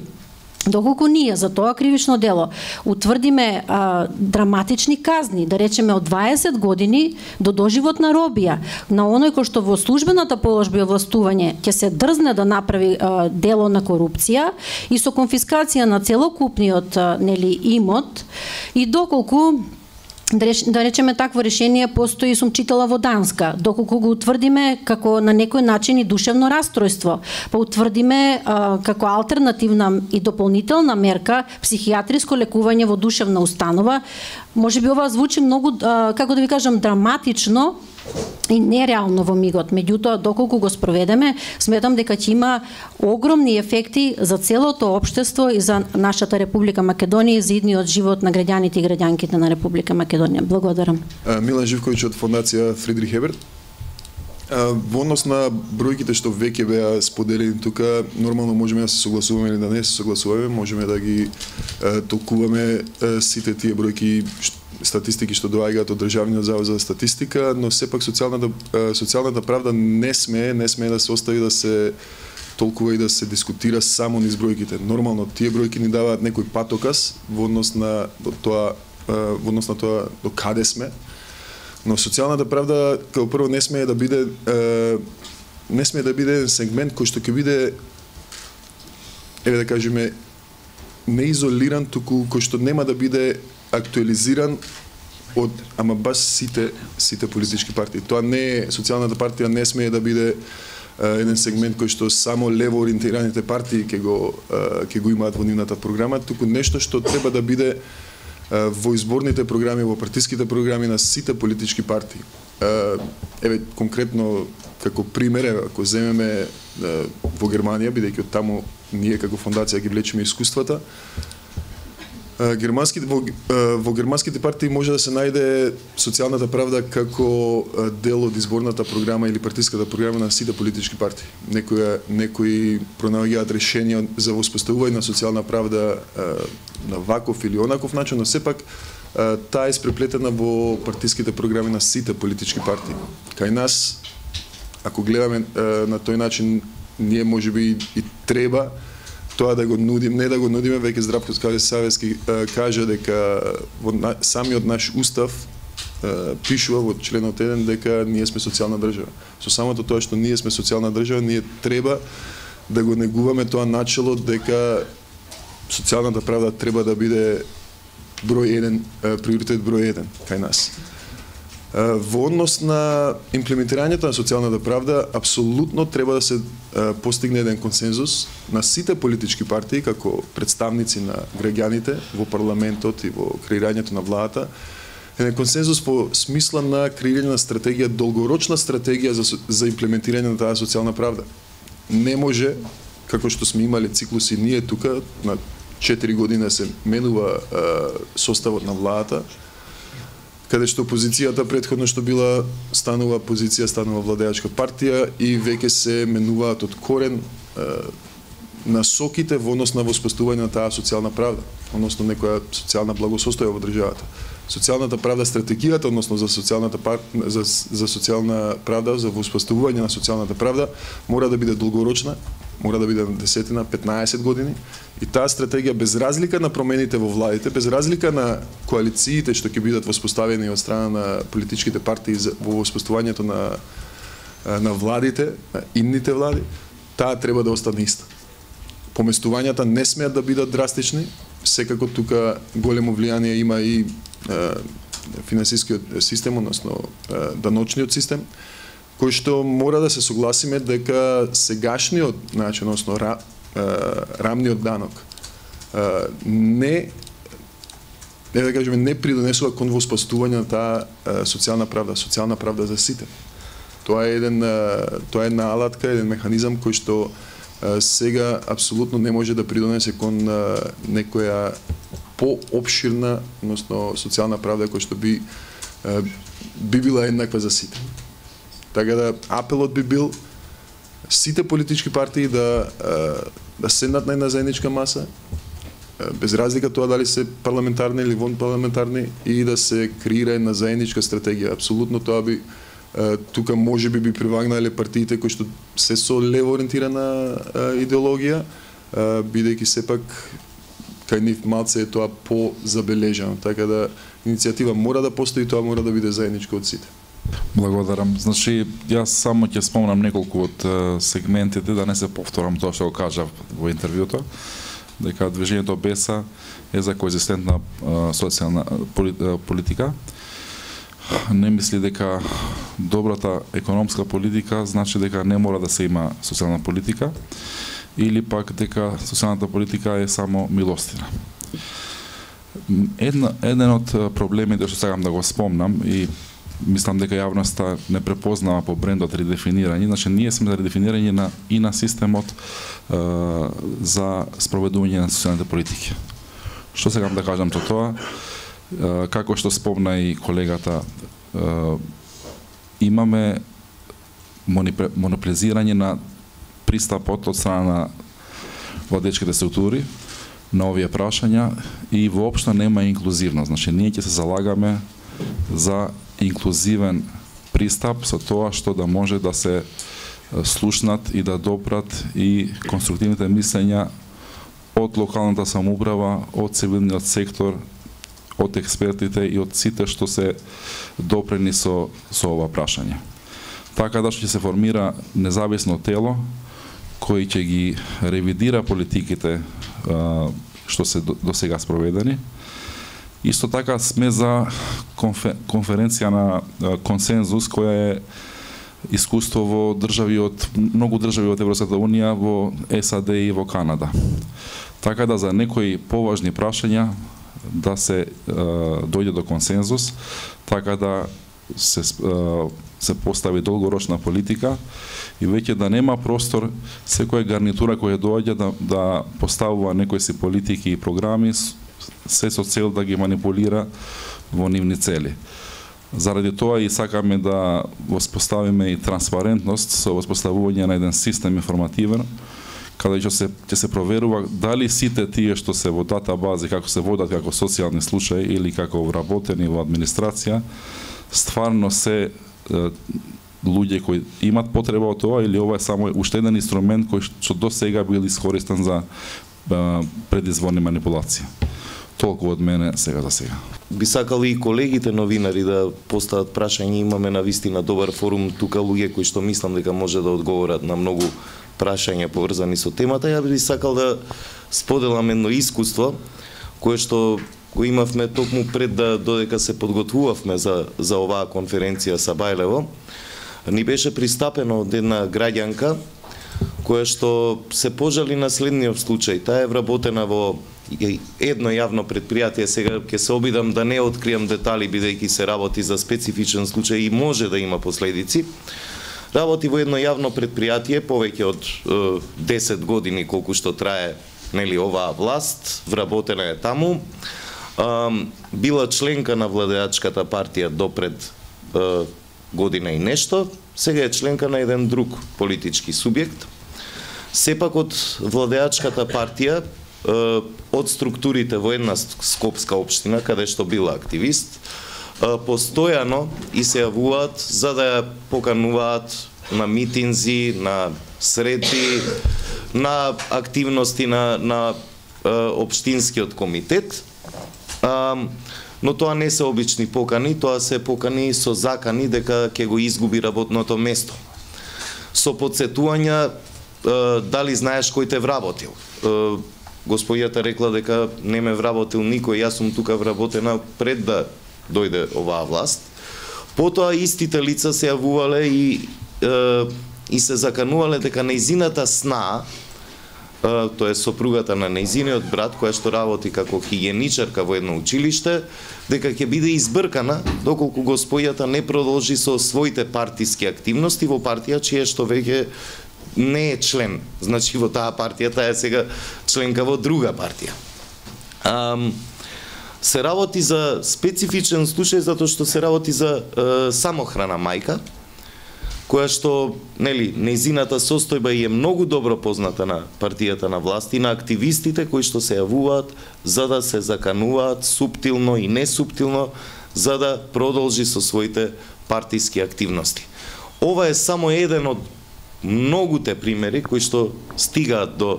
Доколку ние за тоа кривично дело утврдиме а, драматични казни, да речеме од дваесет години до доживотна робија, на оној кој што во службената положба и овластување ќе се дрзне да направи а, дело на корупција и со конфискација на целокупниот а, нели имот, и доколку да, реш, да речеме такво решение постои, сум читала во Данска, доколку го утврдиме како на некој начин и душевно расстройство, па утврдиме а, како алтернативна и дополнителна мерка психијатриско лекување во душевна установа, можеби ова звучи многу, а, како да ви кажам, драматично и нереално во мигот. Меѓутоа, доколку го спроведеме, сметам дека ќе има огромни ефекти за целото општество и за нашата Република Македонија и за идниот живот на граѓаните и граѓанките на Република Македонија. Благодарам. Милан Живковиќ од фондација Фридрих Еберт. Во однос на бројките што веќе беа споделени тука, нормално можеме да се согласуваме или да не се согласуваме, можеме да ги толкуваме сите тие бројки статистики што доаѓаат од Државниот завод за статистика, но сепак социјалната социјалната правда не смее, не смее да се остави да се толкува и да се дискутира само низ бројките. Нормално тие бројки ни даваат некој патоказ во однос на тоа во однос на тоа до каде сме. Но социјалната правда како прво не смее да биде не смее да биде еден сегмент кој што ќе биде, еве да кажеме, не изолиран, туку кој што нема да биде актуализиран од ама баш сите сите политички партии. Тоа не е, социјалната партија не смее да биде uh, еден сегмент кој што само лево ориентираните партии ќе го uh, ќе го имаат во нивната програма, туку нешто што треба да биде uh, во изборните програми, во партиските програми на сите политички партии. Uh, еве конкретно како пример, ако земеме uh, во Германија, бидејќи од таму ние како фондација ги влечеме искуствата, Германските, во, во германските партии може да се најде социјалната правда како дел од изборната програма или партиската програма на сите политички партии. Некои, некои пронаоѓаат решенија за воспоставување на социјална правда на ваков или онаков начин, но сепак таа е испреплетена во партиските програми на сите политички партии. Кај нас, ако гледаме на тој начин, ние можеби и треба тоа да го нудим, не да го нудиме, веќе Здравко Савески кажа дека во самиот наш устав пишува во членот еден дека ние сме социјална држава. Со самото тоа што ние сме социјална држава, ние треба да го негуваме тоа начело дека социјалната правда треба да биде број еден, приоритет број еден кај нас. Во однос на имплементирањето на социјалната правда, апсолутно треба да се постигне еден консензус на сите политички партии како представници на граѓаните во парламентот и во креирањето на владата, еден консензус во смисла на креирање на стратегија, долгорочна стратегија за, за имплементирање на таа социјална правда. Не може, како што сме имали циклуси ние тука, на четири години се менува составот на владата, каде што опозицијата претходно што била станува позиција, станува владеачка партија и веќе се менуваат од корен е, насоките во однос на воспоставување на таа социјална правда, односно некоја социјална благосостоја во државата. Социјалната правда, стратегијата односно за социјалната за, за социјална правда, за воспоставување на социјалната правда мора да биде долгорочна, мора да биде на десетина, петнаесет години и таа стратегија без разлика на промените во владите, без разлика на коалициите што ќе бидат воспоставени од страна на политичките партии во воспоставувањето на на владите, на идните влади, таа треба да остане иста. Поместувањата не смеат да бидат драстични, секако тука големо влијание има и финансискиот систем, односно даночниот систем, кој што мора да се согласиме дека сегашниот начин, односно ра, рамниот данок не не да кажеме не придонесува кон воспоставување на таа социјална правда, социјална правда за сите. Тоа е еден тоа е една алатка, еден механизам кој што сега апсолутно не може да придонесе кон некоја поопширна, односно социјална правда која што би би била еднаква за сите. Така да апелот би бил сите политички партии да да седнат на една заедничка маса, без разлика тоа дали се парламентарни или вонпарламентарни, и да се креира една заедничка стратегија. Апсолутно тоа би тука може би би привагнале партиите кои што се со лево ориентирана идеологија, бидејќи сепак кај нив малце е тоа позабележано. Така да иницијатива мора да постои, тоа мора да биде заедничко од сите. Благодарам. Значи, јас само ќе спомнам неколку од сегментите, да не се повторам тоа што го кажав во интервјуто, дека движењето БЕСА е за коегзистентна социјална политика, не мисли дека добрата економска политика значи дека не мора да се има социјална политика, или пак дека социјалната политика е само милостина. Една, еден од проблемите што сакам да го спомнам и мислам дека јавноста не препознава по брендот редефинирање, значи ние сме за редефинирање на и на системот е, за спроведување на социјалните политики. Што сакам да кажам со тоа? Е, како што спомна и колегата, е, имаме монополизирање на пристапот од страна на владечките структури на овие прашања и воопшто нема инклузивност. Значи ние ќе се залагаме за инклузивен пристап со тоа што да може да се слушнат и да допрат и конструктивните мислења од локалната самоуправа, од цивилниот сектор, од експертите и од сите што се допрени со, со ова прашање. Така да што ќе се формира независно тело кој ќе ги ревидира политиките што се до сега спроведени. Исто така сме за конференција на консензус која е искуство во држави од многу држави од Европската унија, во САД и во Канада. Така да за некои поважни прашања да се дојде до консензус, така да се се постави долгорочна политика и веќе да нема простор секоја гарнитура која доаѓа да, да поставува некои си политики и програми се со цел да ги манипулира во нивни цели. Заради тоа и сакаме да воспоставиме и транспарентност со воспоставување на еден систем информативен, каде ќе се, ќе се проверува дали сите тие што се во датабази, како се водат како социјални случаи или како вработени во администрација, стварно се е, луѓе кои имат потреба од тоа или ова е само уште еден инструмент кој што до сега бил искористен за е, предизборни манипулации. Толку од мене сега за сега. Би сакали и колегите новинари да постават прашања, имаме на вистина добар форум тука, луѓе кои што мислам дека може да одговорат на многу прашања поврзани со темата. Ја би сакал да споделам едно искуство кое што го имавме токму пред да додека се подготвувавме за за оваа конференција со Бајлево. Ни беше пристапено од една граѓанка која што се пожали на следниот случај. Таа е вработена во едно јавно предпријатие, сега ќе се обидам да не откријам детали бидејќи се работи за специфичен случај и може да има последици. Работи во едно јавно предпријатие повеќе од е, десет години колку што трае нели оваа власт, вработена е таму. А, била членка на владеачката партија допред е, година и нешто, сега е членка на еден друг политички субјект. Сепак од владеачката партија, од структурите во една скопска општина, каде што била активист, постојано и се јавуваат за да ја покануваат на митинзи, на средби, на активности на, на општинскиот комитет, но тоа не се обични покани, тоа се покани со закани дека ќе го изгуби работното место. Со подсетувања дали знаеш кој те вработил. Господјата рекла дека не ме вработил никој, јас сум тука вработена пред да дојде оваа власт. Потоа истите лица се јавувале и, е, и се заканувале дека нејзината сна, е, тоа е сопругата на нејзиниот брат, која што работи како хигиеничарка во едно училиште, дека ќе биде избркана доколку господјата не продолжи со своите партиски активности во партија чија што веќе не е член. Значи во таа партија, таа е сега членка во друга партија. Ам, се работи за специфичен случај затоа што се работи за е, самохрана мајка, која што, нели, нејзината состојба е многу добро позната на партијата на власт и на активистите кои што се јавуваат за да се закануваат суптилно и несуптилно за да продолжи со своите партиски активности. Ова е само еден од многуте примери кои што стигаат до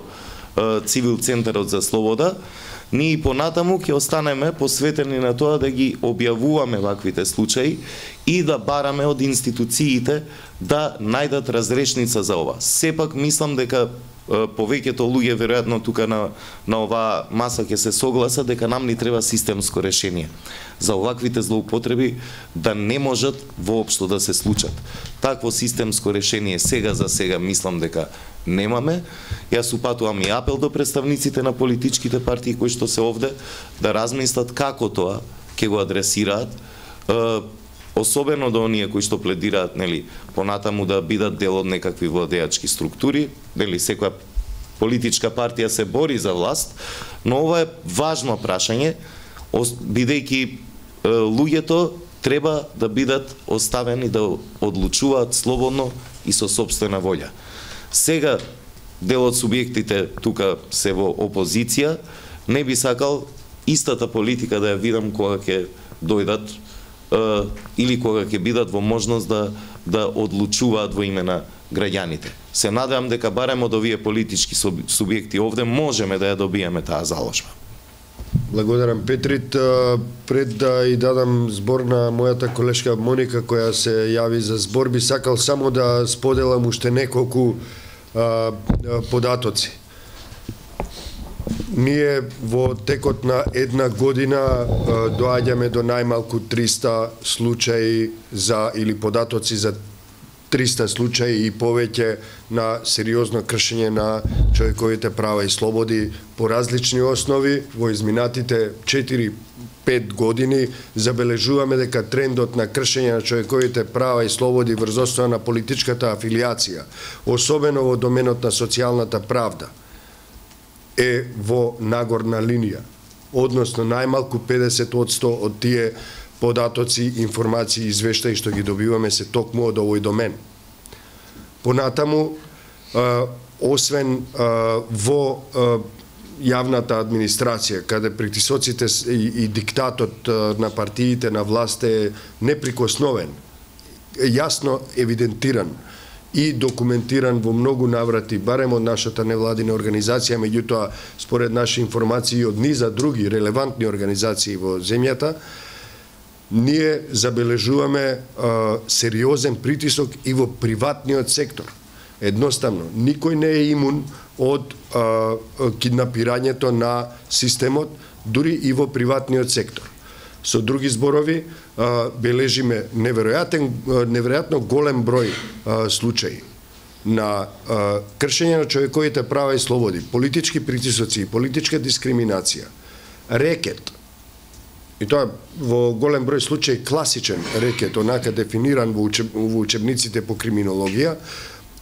е, Цивил Центарот за слобода. Ние и понатаму ќе останеме посветени на тоа да ги објавуваме ваквите случаи и да бараме од институциите да најдат разрешница за ова. Сепак мислам дека повеќето луѓе веројатно тука на на оваа маса ќе се согласат дека нам ни треба системско решение за оваквите злоупотреби да не можат воопшто да се случат. Такво системско решение сега за сега мислам дека немаме. Јас упатувам и апел до представниците на политичките партии кои што се овде да размислат како тоа ќе го адресираат, особено до оние кои што пледираат, нели, понатаму да бидат дел од некакви владеачки структури, нели, секоја политичка партија се бори за власт, но ова е важно прашање, бидејќи луѓето треба да бидат оставени да одлучуваат слободно и со сопствена волја. Сега дел од субјектите тука се во опозиција, не би сакал истата политика да ја видам кога ќе дојдат е, или кога ќе бидат во можност да да одлучуваат во име на граѓаните. Се надевам дека барем од овие политички субјекти овде можеме да ја добиеме таа заложба. Благодарам, Петрит. Пред да и дадам збор на мојата колешка Моника која се јави за збор, би сакал само да споделам уште неколку а, податоци. Ние во текот на една година доаѓаме до најмалку триста случаи за или податоци за триста случаи и повеќе на сериозно кршење на човековите права и слободи по различни основи. Во изминатите четири пет години забележуваме дека трендот на кршење на човековите права и слободи врз основа на политичката афилиација, особено во доменот на социјалната правда, е во нагорна линија, односно најмалку педесет одсто од тие податоци, информации и извештаи што ги добиваме се токму од овој домен. Понатаму, а, освен а, во а, јавната администрација, каде притисоците и, и диктатот а, на партиите на власт е неприкосновен, јасно евидентиран и документиран во многу наврати, барем од нашата невладина организација, меѓутоа според наши информации од низа други релевантни организации во земјата, ние забележуваме а, сериозен притисок и во приватниот сектор. Едноставно, никој не е имун од а, киднапирањето на системот, дури и во приватниот сектор. Со други зборови, а, бележиме неверојатен, неверојатно голем број а, случаи на а, кршење на човековите права и слободи, политички притисоци, политичка дискриминација, рекет. И тоа во голем број случаи класичен рекет, онака дефиниран во, учеб, во учебниците по криминологија,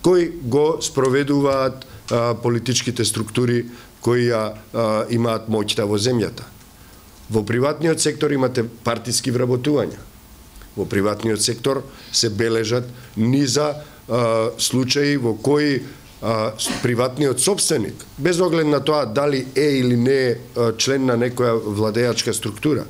кои го спроведуваат а, политичките структури кои а, а, имаат моќта во земјата. Во приватниот сектор имате партиски вработувања. Во приватниот сектор се бележат низа а, случаи во кои а, приватниот собственик, без оглед на тоа дали е или не е член на некоја владеачка структура,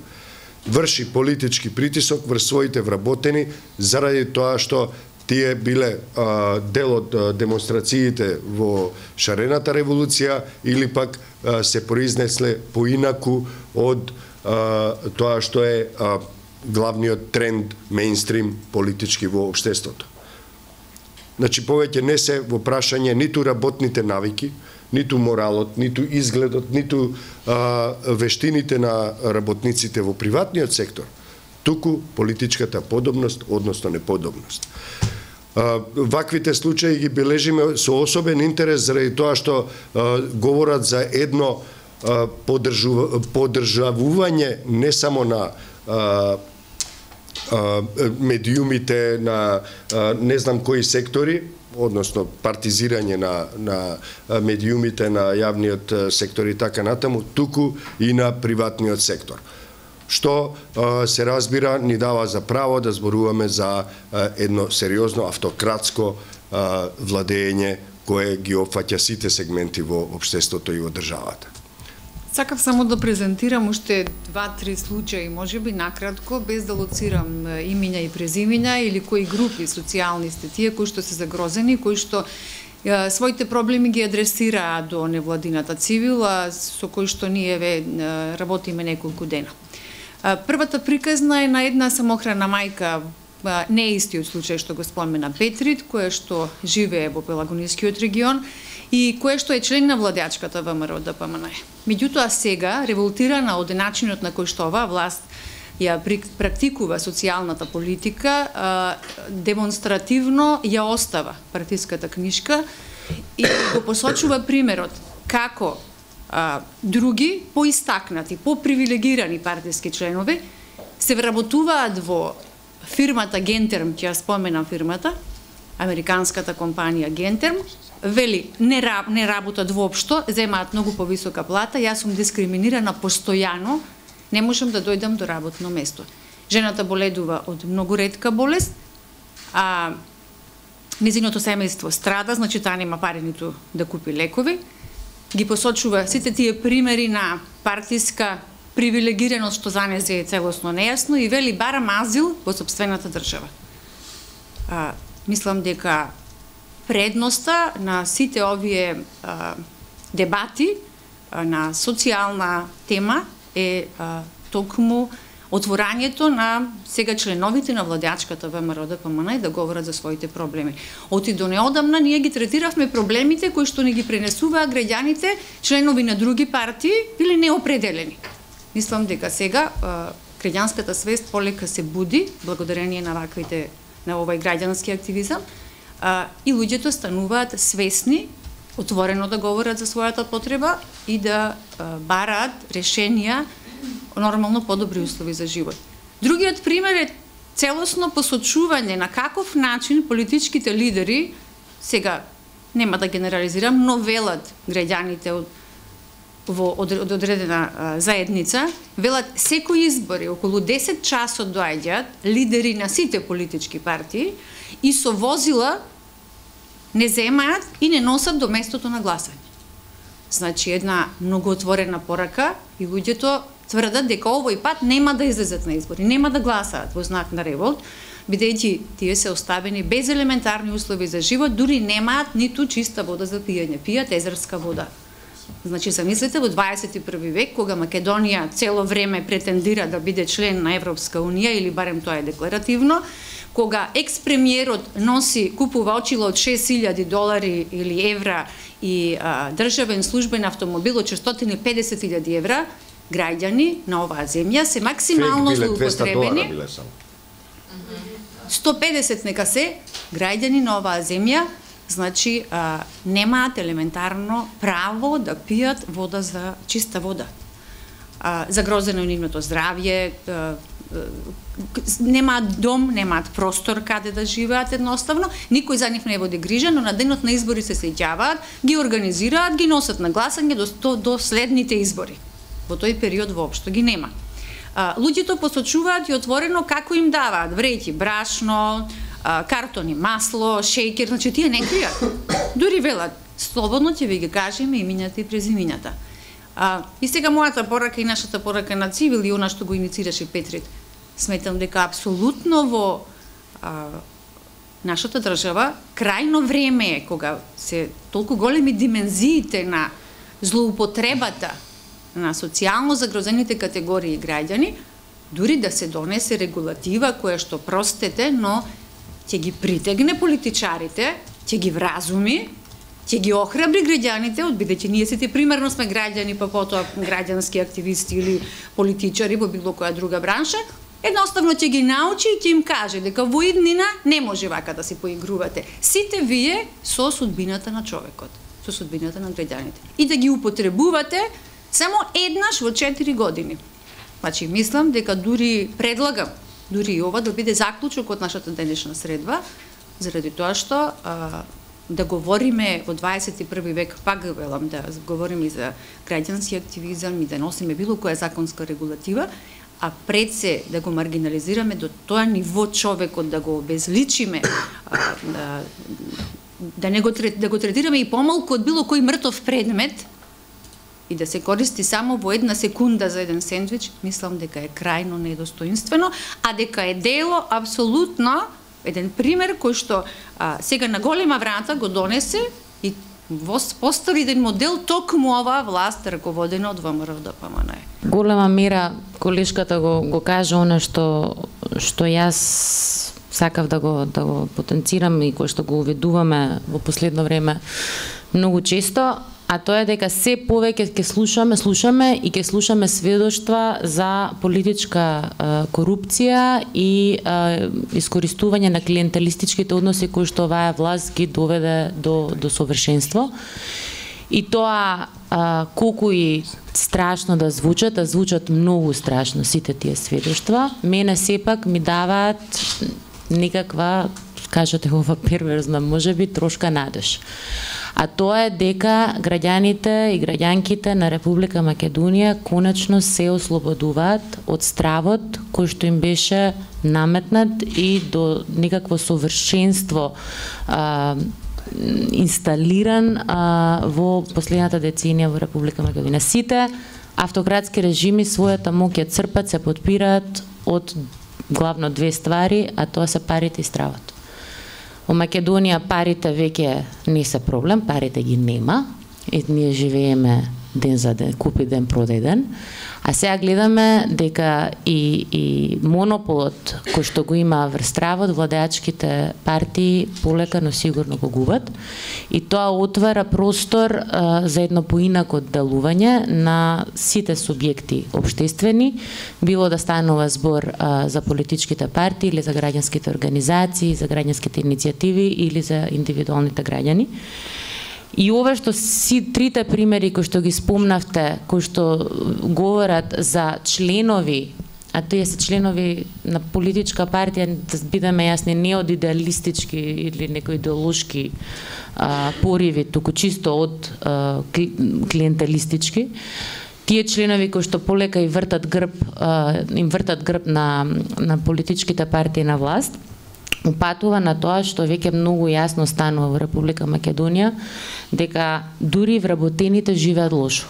врши политички притисок врз своите вработени заради тоа што тие биле а, дел од а, демонстрациите во шарената револуција или пак а, се произнесле поинаку од а, тоа што е а, главниот тренд мејнстрим политички во општеството. Значи, повеќе не се во прашање ниту работните навики, ниту моралот, ниту изгледот, ниту а, вештините на работниците во приватниот сектор, туку политичката подобност, односно неподобност. А, ваквите случаи ги бележиме со особен интерес заради тоа што а, говорат за едно а, поддржу, поддржавување не само на а, а, медиумите, на а, не знам кои сектори, односно партизирање на, на медиумите, на јавниот сектор и така натаму, туку и на приватниот сектор. Што а, се разбира ни дава за право да зборуваме за а, едно сериозно автократско а, владење кое ги опфаќа сите сегменти во општеството и во државата. Сакав само да презентирам уште два-три случаи, можеби накратко, без да лоцирам имиња и презимиња или кои групи социјални сте тие кои што се загрозени, кои што е, своите проблеми ги адресираа до невладината цивила, со кои што ние ве работиме неколку дена. Првата приказна е на една самохрана мајка не е истиот случај што го спомена Петрит, кој што живее во Пелагонискиот регион и кој што е член на владеачката ВМРО Д П М Н. Меѓутоа сега, револтирана од начинот на кој што оваа власт ја практикува социјалната политика, демонстративно ја остава партиската книшка и го посочува примерот како а, други поистакнати, попривилегирани партиски членови се вработуваат во фирмата Гентерм, ќе ја споменам фирмата, американската компанија Гентерм, вели не, не работат воопшто, земаат многу повисока плата, јас сум дискриминирана постојано, не можам да дојдам до работно место. Жената боледува од многу ретка болест, а незиното семејство страда, значи таа нема пари ниту да купи лекови. Ги посочува сите тие примери на партиска привилегираност што за незе е целосно нејасно и вели барам азил во сопствената држава. А, мислам дека предноста на сите овие а, дебати а, на социјална тема е а, токму отворањето на сега членовите на владеачката ВМРО Д П М Н и да говорат за своите проблеми. Оти до неодамна ние ги третиравме проблемите кои што ни ги пренесуваа граѓаните, членови на други партии или неопределени. Мислам дека сега а, граѓанската свест полека се буди благодарение на ваквите на овој граѓански активизам а, и луѓето стануваат свесни, отворено да говорат за својата потреба и да а, бараат решенија, нормално подобри услови за живот. Другиот пример е целосно посочување на каков начин политичките лидери, сега нема да генерализирам, но велат граѓаните од во од одредена а, заедница, велат секој избори околу десет часот доаѓаат лидери на сите политички партии и со возила не земаат и не носат до местото на гласање. Значи една многу отворена порака и луѓето тврдат дека овој пат нема да излезат на избори, нема да гласаат во знак на револт, бидејќи тие се оставени без елементарни услови за живот, дури немаат ниту чиста вода за пиење, пијат езерска вода. Значи, замислете, во дваесет и први век, кога Македонија цело време претендира да биде член на Европска Унија, или барем тоа е декларативно, кога екс-премиерот носи, купува очила од шест илјади долари или евра и а, државен службен автомобил од четиристотини и педесет илјади евра, граѓани на оваа земја се максимално злоупотребени. сто педесет нека се граѓани на оваа земја, значи а, немаат елементарно право да пијат вода за чиста вода. А, загрозено е нивното здравје, а, а, немаат дом, немаат простор каде да живеат едноставно, никој за нив не води грижа, но на денот на избори се сеќаваат, ги организираат, ги носат на гласање до, до, до следните избори. Во тој период воопшто ги нема. А, луѓето посочуваат и отворено како им даваат вреќи брашно, а, картони масло, шејкер, значи тие не кријат. Дури велат, слободно ќе ви ги кажеме имињата и презимињата. А, и сега мојата порака и нашата порака на Цивил и она што го иницираше Петрит, сметам дека апсолутно во а, нашата држава крајно време е кога се толку големи димензиите на злоупотребата на социјално загрозените категории граѓани, дури да се донесе регулатива која што, простете, но ќе ги притегне политичарите, ќе ги вразуми, ќе ги охрабри граѓаните, бидејќи ние сите примерно сме граѓани, па потоа граѓански активисти или политичари во било која друга бранша, едноставно ќе ги научи и ќе им каже дека во иднина не може вака да се поигрувате. Сите вие со судбината на човекот, со судбината на граѓаните. И да ги употребувате само еднаш во четири години. Значи, мислам дека дури предлагам, дури и ова да биде заклучок од нашата денешна средба, заради тоа што а, да говориме во дваесет и први век, пак велам, да говориме и за граѓански активизам и да носиме било која законска регулатива, а пред се да го маргинализираме до тоа ниво човекот, да го обезличиме, а, да, да, не го, да го третираме и помалку од било кој мртов предмет, и да се користи само во една секунда за еден сендвич, мислам дека е крајно недостоинствено, а дека е дело апсолутно еден пример кој што а, сега на голема врата го донесе и постави еден модел токму оваа власт раководена од ВМРО Д П М Н. Голема мера колешката го го кажа она што што јас сакав да го да го потенцирам и кој што го уведуваме во последно време многу често, а тоа е дека се повеќе ќе слушаме, слушаме и ќе слушаме сведоштва за политичка е, корупција и е, искористување на клиентелистичките односи кои што оваа власт ги доведе до до совршенство. И тоа а, колку и страшно да звучат, да звучат многу страшно сите тие сведоштва, мене сепак ми даваат некаква, кажете ова перверзна, можеби трошка надеж. А тоа е дека граѓаните и граѓанките на Република Македонија конечно се ослободуваат од стравот кој што им беше наметнат и до некакво совршенство а, инсталиран а, во последната деценија во Република Македонија. Сите автократски режими својата моќ ја црпат, се подпираат од главно две ствари, а тоа се парите и стравот. Во Македонија парите веќе не се проблем, парите ги нема, и ние живееме ден за ден, купи ден, продај ден, а сега гледаме дека и, и монополот кој што го има врз стравот, владеачките партии полека, но сигурно го губат, и тоа отвара простор а, за едно поинако делување на сите субјекти општествени, било да станува збор а, за политичките партии или за граѓанските организации, за граѓанските иницијативи или за индивидуалните граѓани. И ова што си трите примери кои што ги спомнавте, кои што говорат за членови, а тие се членови на политичка партија, да бидеме јасни, не од идеалистички или некои идеолошки а, пориви, туку чисто од а, клиентелистички, тие членови кои што полека и вртат грб, а, им вртат грб на, на политичките партии на власт, упатува на тоа што веќе многу јасно станува во Република Македонија, дека дури вработените живеат лошо.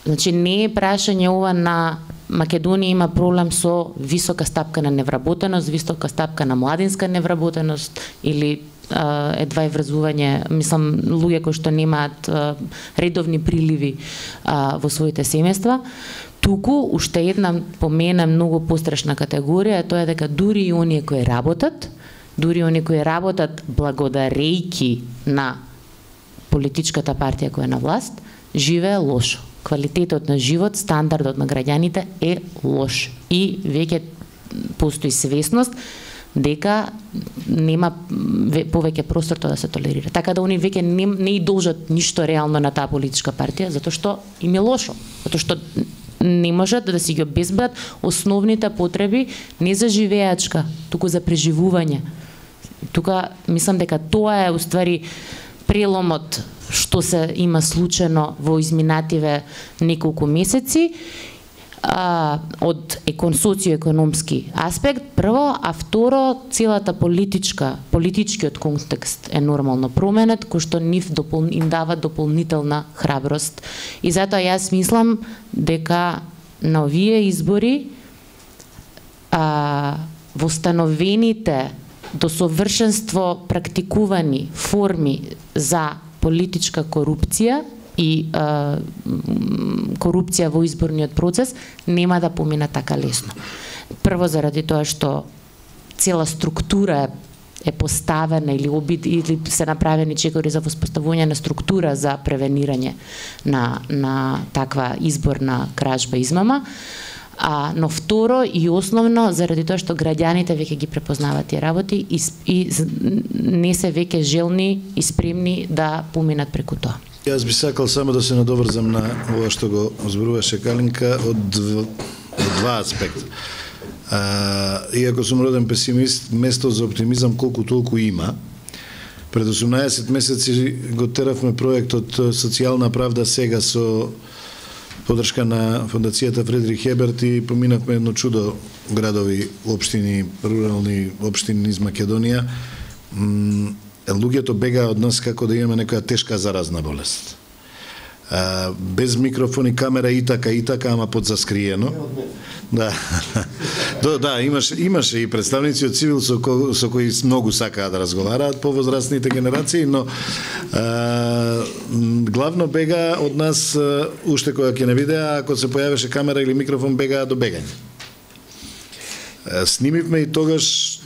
Значи не е прашање ова на Македонија има проблем со висока стапка на невработеност, висока стапка на младинска невработеност или а, едва и врзување, мислам, луѓе кои што немаат а, редовни приливи а, во своите семејства. Туку уште една по мене многу пострашна категорија е тоа дека дури и оние кои работат, дури оние кои работат благодарејќи на политичката партија која е на власт, живее лошо. Квалитетот на живот, стандардот на граѓаните е лош. И веќе постои свесност дека нема повеќе простор тоа да се толерира. Така да они веќе не, не и должат ништо реално на таа политичка партија, затоа што им е лошо. Затоа што не можат да си ги обезбедат основните потреби не за живеачка, туку за преживување. Тука мислам дека тоа е уствари преломот што се има случено во изминативе неколку месеци а, од екон, социоекономски аспект, прво, а второ, целата политичка, политичкиот контекст е нормално променет, кој што нив допол, им дава дополнителна храброст. И затоа јас мислам дека на овие избори а, востановените до совршенство практикувани форми за политичка корупција и а, корупција во изборниот процес нема да помина така лесно. Прво заради тоа што цела структура е поставена или обид или се направени чекори за воспоставување на структура за превенирање на на таква изборна кражба измама. А, но второ и основно заради тоа што граѓаните веќе ги препознаваат тие работи и, и не се веќе желни и спремни да поминат преку тоа. Јас би сакал само да се надоврзам на ова што го зборуваше Калинка од два, од два аспекта. А, иако сум роден песимист, место за оптимизам колку толку има. Пред осумнаесет месеци го теравме проектот Социјална правда сега со подршка на фондацијата Фредрих Хеберт и поминавме едно чудо градови, општини, рурални општини из Македонија. Луѓето бегаа од нас како да имаме некоја тешка заразна болест. А, без микрофон и камера и така и така, ама подзаскриено. Да. Да, да, имаше имаше и представници од цивил со, ко, со кои многу сакаат да разговараат повозрастните генерации, но а, главно бега од нас а, уште кога ќе не видеа, ако се појавеше камера или микрофон бегаа до бегање. Снимивме и тогаш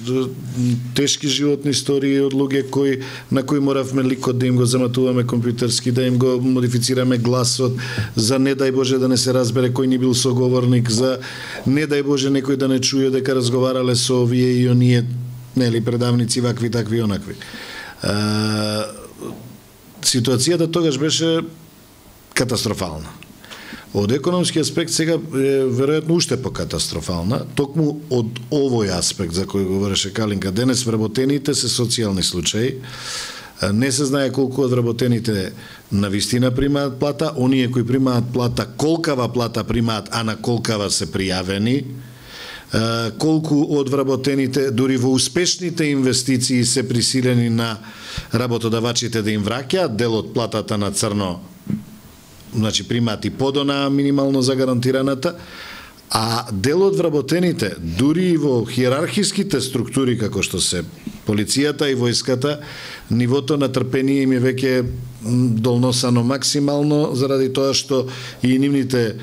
тешки животни истории од луѓе кои на кои моравме ликот да им го заматуваме компјутерски, да им го модифицираме гласот, за не дај Боже да не се разбере кој ни бил соговорник, за не дај Боже некој да не чуе дека разговарале со овие и оние, нели, предавници вакви, такви, онакви. А, ситуацијата тогаш беше катастрофална. Од економски аспект сега е веројатно уште покатастрофална, токму од овој аспект за кој говореше Калинка денес, вработените се социјални случаи. Не се знае колку од вработените на вистина примаат плата, оние кои примаат плата, колкава плата примаат, а на колкава се пријавени, колку од вработените дури во успешните инвестиции се присилени на работодавачите да им враќаат дел од платата на црно, значи примаат и подона минимално загарантираната, а дел од вработените, дури и во хиерархиските структури како што се полицијата и војската, нивото на трпение им е веќе долносано максимално, заради тоа што и нивните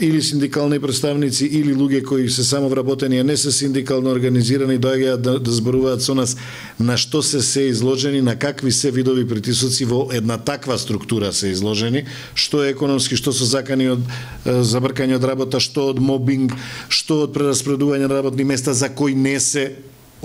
или синдикални представници или луѓе кои се само вработени, а не се синдикално организирани, доаѓаат да, да зборуваат со нас на што се се изложени, на какви се видови притисоци во една таква структура се изложени, што е економски, што со закани од забркање од работа, што од мобинг, што од прераспредување на работни места за кои не се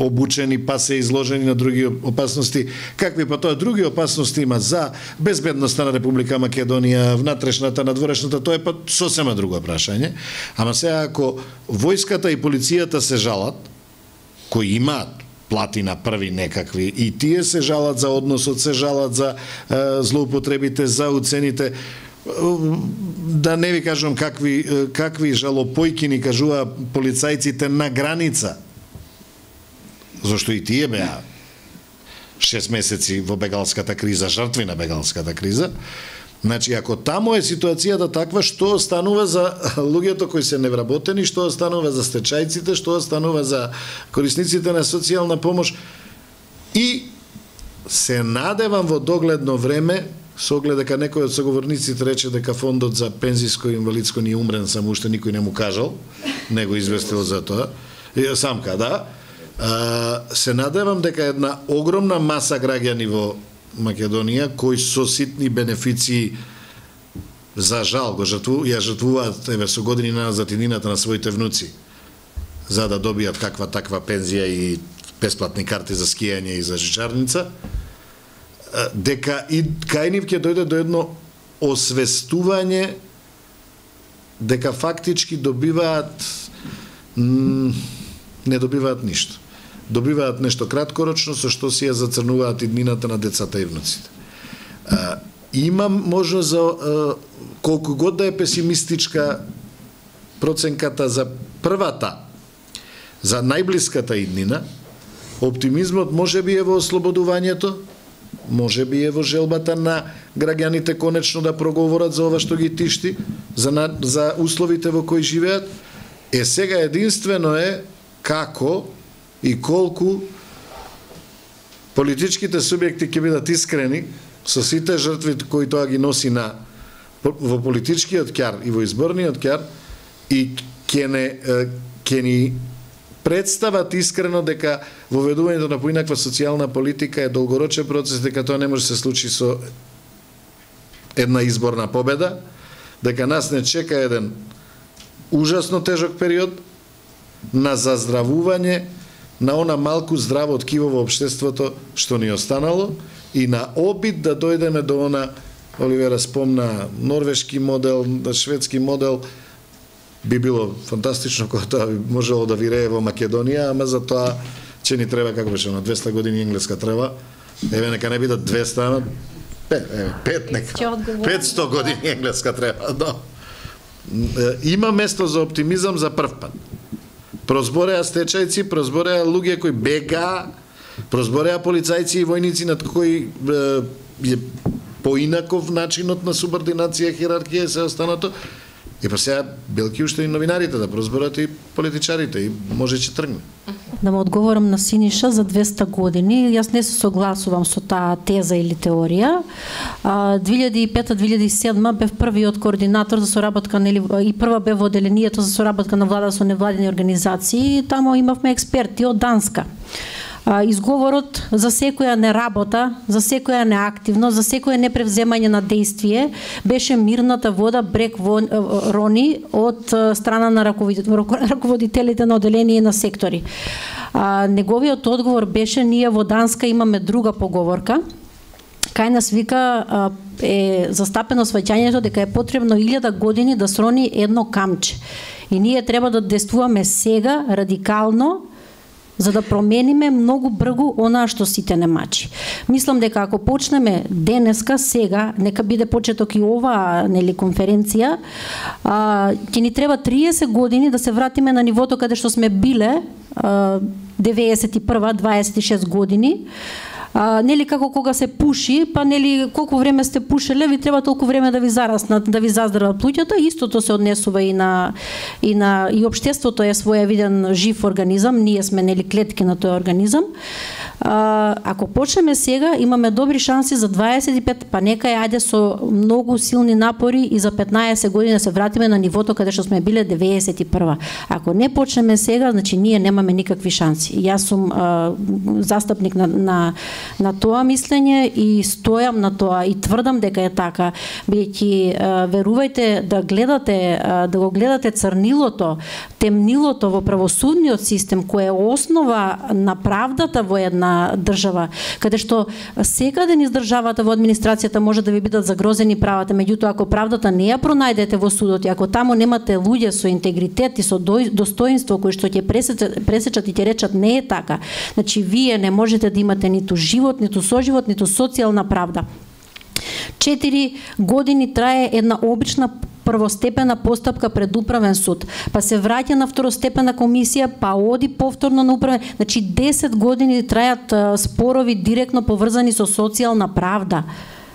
обучени, па се изложени на други опасности. Какви па тоа други опасности има за безбедноста на Република Македонија, внатрешната, надворешната, тоа е па сосема друго прашање. Ама сега ако војската и полицијата се жалат, кои имаат плати на први некакви, и тие се жалат за односот, се жалат за е, злоупотребите, за уцените, да не ви кажувам какви, какви жалопојки ни кажува полицајците на граница, зашто и тие беа шест месеци во бегалската криза, жртви на бегалската криза. Значи, ако таму е ситуацијата таква, што останува за луѓето кои се невработени, што останува за стечајците, што останува за корисниците на социјална помош, и се надевам во догледно време, со оглед дека некој од соговорниците рече дека фондот за пензиско и инвалидско ни умрен, само уште никој не му кажал, не го известил за тоа, самка, да, се надевам дека една огромна маса граѓани во Македонија, кои со ситни бенефиции, за жал, го жртву, ја жртвуваат еве со години назад иднината на своите внуци, за да добијат каква таква пензија и бесплатни карти за скијање и за жичарница, дека и кај нив ќе дојде до едно освестување дека фактички добиваат не добиваат ништо. Добиваат нешто краткорочно со што си ја зацрнуваат иднината на децата и внуците. А, имам можност за а, колку год да е песимистичка проценката за првата, за најблиската иднина, оптимизмот може би е во ослободувањето, може би е во желбата на граѓаните конечно да проговорат за ова што ги тишти, за, на, за условите во кои живеат. Е сега единствено е како и колку политичките субјекти ќе бидат искрени со сите жртви кои тоа ги носи на во политичкиот ќар и во изборниот ќар, и ќе не ќе ни представат искрено дека воведувањето на поинаква социјална политика е долгорочен процес, дека тоа не може да се случи со една изборна победа, дека нас не чека еден ужасно тежок период на заздравување на она малку здраво ткиво во општеството што ни останало и на обид да дојдеме до она, Оливера спомна, норвешки модел, шведски модел, би било фантастично кога тоа би можело да вирее во Македонија, ама за тоа ќе ни треба, како беше, на двеста години енглеска треба, еве нека не бидат двеста, ама пет, еве, пет нека, петсто години енглеска треба, да. Има место за оптимизам за прв пат. Прозбореа стечајци, прозбореа луѓе кои бега, прозбореа полицајци и војници над кои е поинаков начинот на субординација, хиерархија и се останато. И па сега белки уште и новинарите да прозборат и политичарите и може ќе тргне. Да му одговорам на Синиша за двеста години. Јас не се согласувам со таа теза или теорија. две илјади и пета - две илјади и седма бев првиот координатор за соработка нели и прва бев во одделението за соработка на влада со невладини организации. Тамо имавме експерти од Данска. Изговорот за секоја неработа, за секоја неактивност, за секое непревземање на действие беше мирната вода брег рони од страна на раководителите на одделение и на сектори. Неговиот одговор беше: ние во Данска имаме друга поговорка. Кај нас вика е застапено сваќањето дека е потребно илјада години да срони едно камче. И ние треба да действуваме сега радикално за да промениме многу бргу онаа што сите не мачи. Мислам дека ако почнеме денеска, сега, нека биде почеток и оваа нели конференција, а, ќе ни треба триесет години да се вратиме на нивото каде што сме биле а, деветесет и прва, дваесет и шест години. А, нели како кога се пуши, па нели колку време сте пушеле, ви треба толку време да ви зараснат, да ви заздрават плуќата. Истото се однесува и на и на и општеството е своевиден жив организам, ние сме нели клетки на тој организам. А, ако почнеме сега, имаме добри шанси за дваесет и пет, па нека ја ајде со многу силни напори и за петнаесет години да се вратиме на нивото каде што сме биле деветесет и прва. Ако не почнеме сега, значи ние немаме никакви шанси. Јас сум а, застапник на, на на тоа мислење и стојам на тоа и тврдам дека е така, бидејќи верувајте да гледате да го гледате црнилото, темнилото во правосудниот систем кој е основа на правдата во една држава, каде што секаде низ државата во администрацијата може да ви бидат загрозени правата, меѓутоа ако правдата не ја пронајдете во судот и ако таму немате луѓе со интегритет и со достоинство кои што ќе пресечат, пресечат и ќе речат не е така, значи вие не можете да имате ниту живот, ниту соживот, ниту социјална правда. Четири години трае една обична првостепена постапка пред управен суд, па се враќа на второстепена комисија, па оди повторно на управен, значи десет години трајат спорови директно поврзани со социјална правда.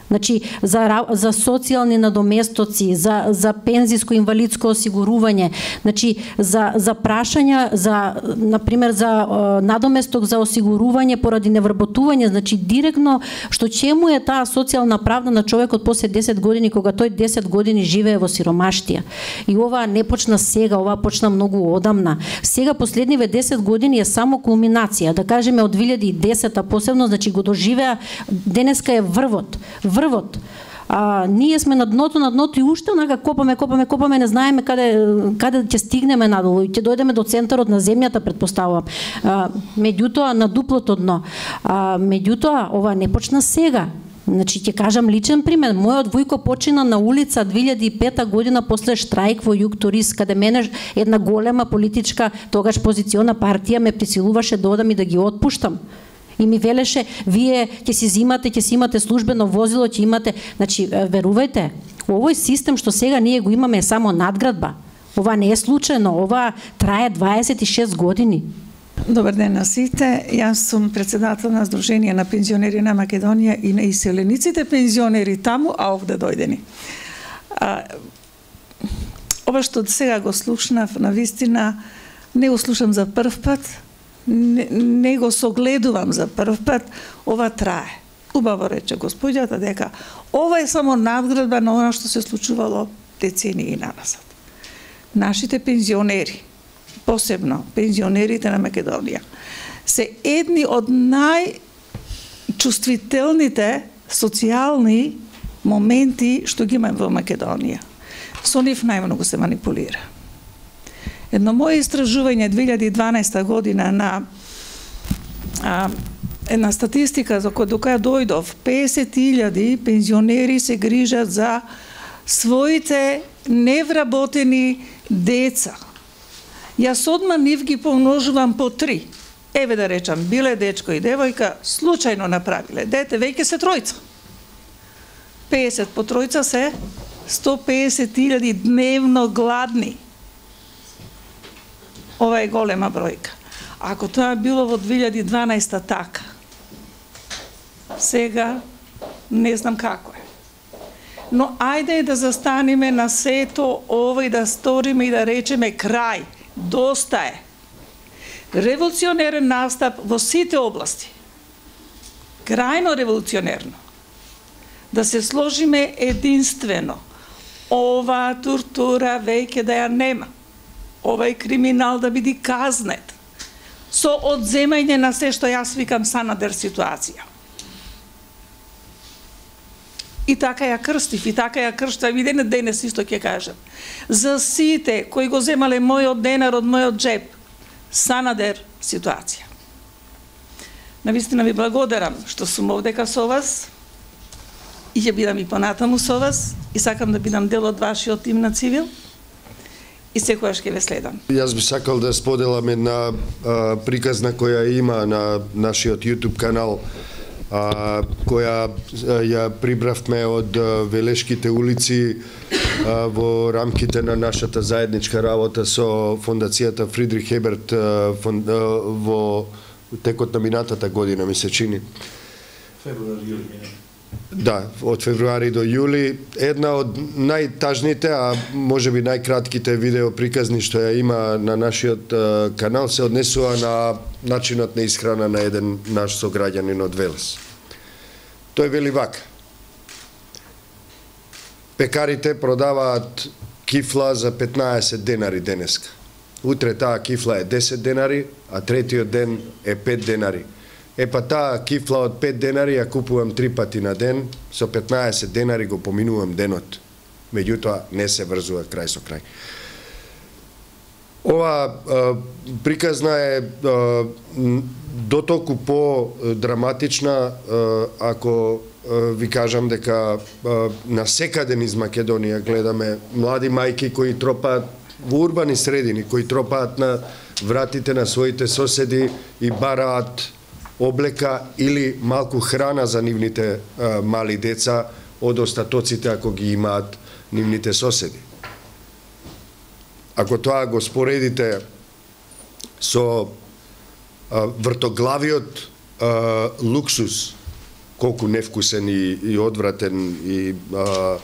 Значи за за социјални надоместоци, за за пензиско инвалидско осигурување, значи за за прашања за на пример за uh, надоместок за осигурување поради невработување, значи директно што чему е таа социјална правда на човекот после десет години кога тој десет години живее во сиромаштија. И ова не почна сега, ова почна многу одамна. Сега последниве десет години е само кулминација, да кажеме од две илјади и десета посебно, значи го доживеа, денеска е врвот. Врвот. А, ние сме на дното, на дното и уште онака копаме, копаме, копаме, не знаеме каде каде ќе стигнеме надолу и ќе дојдеме до центарот на земјата, претпоставувам. А, меѓутоа на дуплото дно. А, меѓутоа ова не почна сега. Значи ќе кажам личен пример. Мојот војко почина на улица две илјади и пета година после штрајк во Југ Турист, каде мене една голема политичка тогаш позициона партија ме присилуваше да одам и да ги отпуштам. И ми велеше, вие ќе си зимате, ќе си имате службено возило, ќе имате, значи верувајте, овој систем што сега ние го имаме е само надградба. Ова не е случајно, ова трае дваесет и шест години. Добар ден на сите. Јас сум председател на Сдружение на пензионери на Македонија и на иселениците пензионери таму, а овде дојдени. А, ова што сега го слушнав, на вистина не го слушам за прв пат, Не, не го согледувам за прв пат, ова трае. Убаво рече господјата дека ова е само надградба на она што се случувало децении назад. Нашите пензионери, посебно пензионерите на Македонија, се едни од најчувствителните социјални моменти што ги имаме во Македонија. Со нив најмногу се манипулира. Едно моје истражување две илјади и дванаесета година на а, една статистика за која до која дојдов, песет илјади пензионери се грижат за своите невработени деца. Јас одма нив ги помножувам по три. Еве да речам, биле дечко и девојка, случајно направиле дете, веќе се тројца. песет по тројца се сто песет илјади дневно гладни. Ова е голема бројка. Ако тоа било во две илјади и дванаесета така, сега не знам како е. Но ајде да застанеме на сето ова и да сториме и да речеме крај. Доста е. Револуционерен настап во сите области. Крајно револуционерно. Да се сложиме единствено. Ова тортура веќе да ја нема. Овај криминал да биде казнет. Со одземање на се што јас викам Санадер ситуација. И така ја крстив, и така ја крштам, и ден денес исто ќе кажам. За сите кои го земале мојот денар од мојот джеп, Санадер ситуација. Навистина ви благодарам што сум овдека со вас, и ќе бидам и понатаму со вас, и сакам да бидам дел од вашиот тим на Цивил, и секојаш ќе ве следам. Јас би сакал да споделам една а, приказна која има на нашиот YouTube канал, а, која а, ја прибравме од а, Велешките улици а, во рамките на нашата заедничка работа со фондацијата Фридрих Еберт а, фон, а, во текот на минатата година, ми се чини. Февруари, Да, од февруари до јули. Една од најтажните, а можеби најкратките видео приказни што ја има на нашиот а, канал се однесува на начинот на исхрана на еден наш сограѓанин од Велес. Тој вели вака: пекарите продаваат кифла за петнаесет денари денеска. Утре таа кифла е десет денари, а третиот ден е пет денари. Е па таа кифла од пет денари ја купувам три пати на ден, со петнаесет денари го поминувам денот. Меѓутоа не се врзува крај со крај. Ова а, приказна е а, дотолку по-драматична а, ако а, ви кажам дека а, насекаде низ Македонија гледаме млади мајки кои тропаат во урбани средини, кои тропаат на вратите на своите соседи и бараат облека или малку храна за нивните а, мали деца од остатоците ако ги имаат нивните соседи. Ако тоа го споредите со а, вртоглавиот а, луксус, колку невкусен и, и одвратен и а,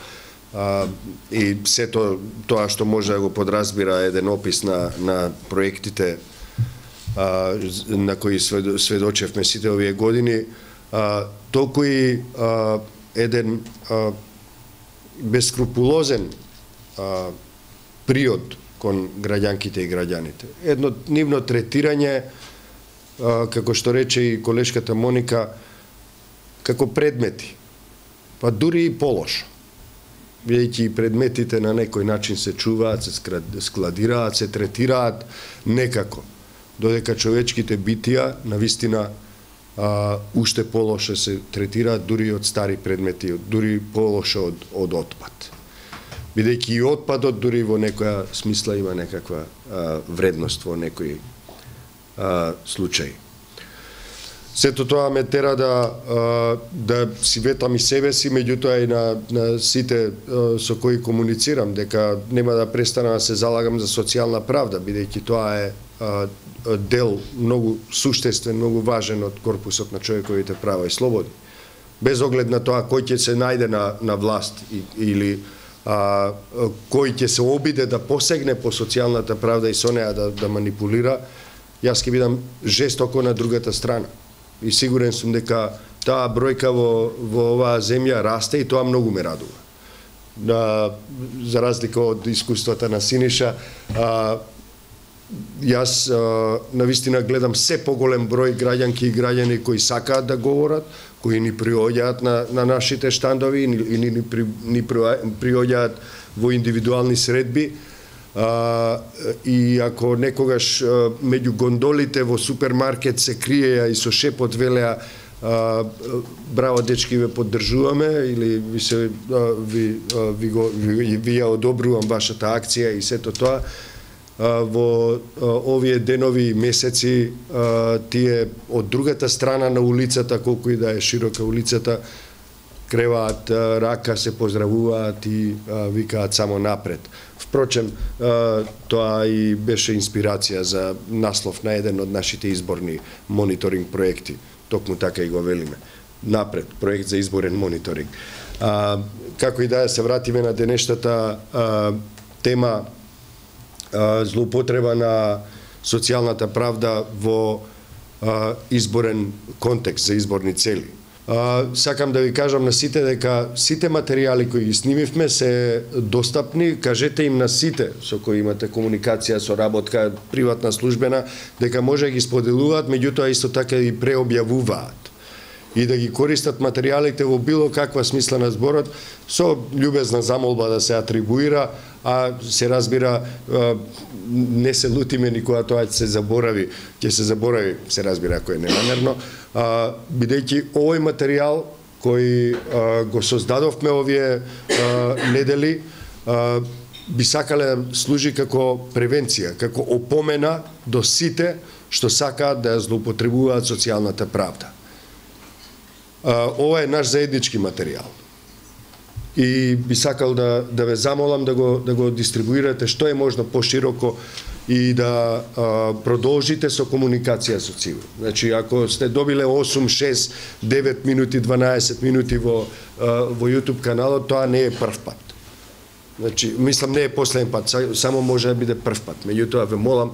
а, и сето тоа што може да го подразбира еден опис на, на проектите а, на кои сведочевме сите овие години, а, толку и а, еден а, бескрупулозен а, приод кон граѓанките и граѓаните. Едно нивно третирање, а, како што рече и колешката Моника, како предмети, па дури и полошо. Бидејќи и предметите на некој начин се чуваат, се складираат, се третираат некако, додека човечките битија навистина а, уште полошо се третираат дури од стари предмети, дури полошо од, од отпад. Бидејќи и отпадот дури во некоја смисла има некаква а, вредност во некои а, случаи. Сето тоа ме тера да, а, да си ветам и себе си, меѓутоа и на, на сите а, со кои комуницирам, дека нема да престана да се залагам за социјална правда, бидејќи тоа е а, дел многу суштествен, многу важен од корпусот на човековите права и слободи. Без оглед на тоа кој ќе се најде на, на власт и, или а, кој ќе се обиде да посегне по социјалната правда и со неа да, да манипулира, јас ќе бидам жестоко на другата страна. И сигурен сум дека таа бројка во, во оваа земја расте и тоа многу ме радува. На, за разлика од искуствата на Синиша, а, јас а, навистина гледам се поголем број граѓанки и граѓани кои сакаат да говорат, кои ни приоѓаат на, на нашите штандови и ни, ни, при, ни приоѓаат во индивидуални средби. А, и ако некогаш а, меѓу гондолите во супермаркет се криеја и со шепот велеа а, браво дечки, ве поддржуваме или ви се а, ви, а, ви, го, ви, ви ја одобрувам вашата акција и сето тоа, а, во а, овие денови и месеци а, тие од другата страна на улицата, колку и да е широка улицата, креваат рака, се поздравуваат и а, викаат само напред. Впрочем, а, тоа и беше инспирација за наслов на еден од нашите изборни мониторинг проекти. Токму така и го велиме. Напред, проект за изборен мониторинг. А, како и да се вратиме на денешната а, тема злоупотреба на социјалната правда во изборен контекст за изборни цели. Сакам да ви кажам на сите дека сите материјали кои ги снимивме се достапни, кажете им на сите со кои имате комуникација, со работка, приватна, службена, дека може да ги споделуваат, меѓутоа исто така и преобјавуваат и да ги користат материјалите во било каква смисла на зборот, со љубезна замолба да се атрибуира, а се разбира, не се лутиме никога тоа ќе се заборави, ќе се заборави, се разбира ако е ненамерно, бидејќи овој материјал кој го создадовме овие недели, би сакале да служи како превенција, како опомена до сите што сакаат да ја злоупотребуваат социјалната правда. Ова е наш заеднички материјал. И би сакал да да ве замолам да го да го дистрибуирате што е можно пошироко и да а, продолжите со комуникација со цивил. Значи ако сте добиле осум, шест, девет минути, дванаесет минути во а, во YouTube каналот, тоа не е прв пат. Значи мислам не е последен пат, само може да биде прв пат. Меѓутоа ве молам,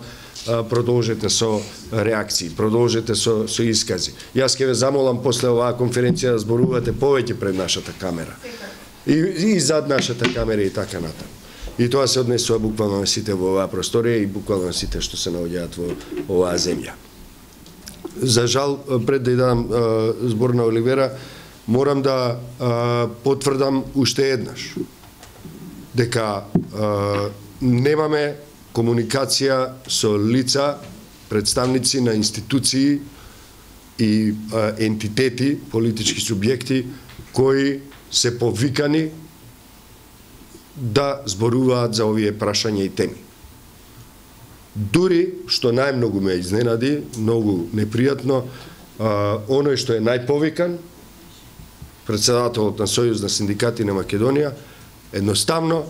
продолжете со реакции, продолжете со, со искази. Јас ќе ве замолам после оваа конференција да зборувате повеќе пред нашата камера. И, и зад нашата камера и така натаму. И тоа се однесува буквално на сите во оваа просторија и буквално на сите што се наоѓаат во оваа земја. За жал, пред да ја дадам збор на Оливера, морам да а, потврдам уште еднаш дека а, немаме комуникација со лица, представници на институции и а, ентитети, политички субјекти кои се повикани да зборуваат за овие прашања и теми. Дури, што најмногу ме изненади, многу непријатно, а, оној што е најповикан, председателот на Сојуз на синдикати на Македонија, едноставно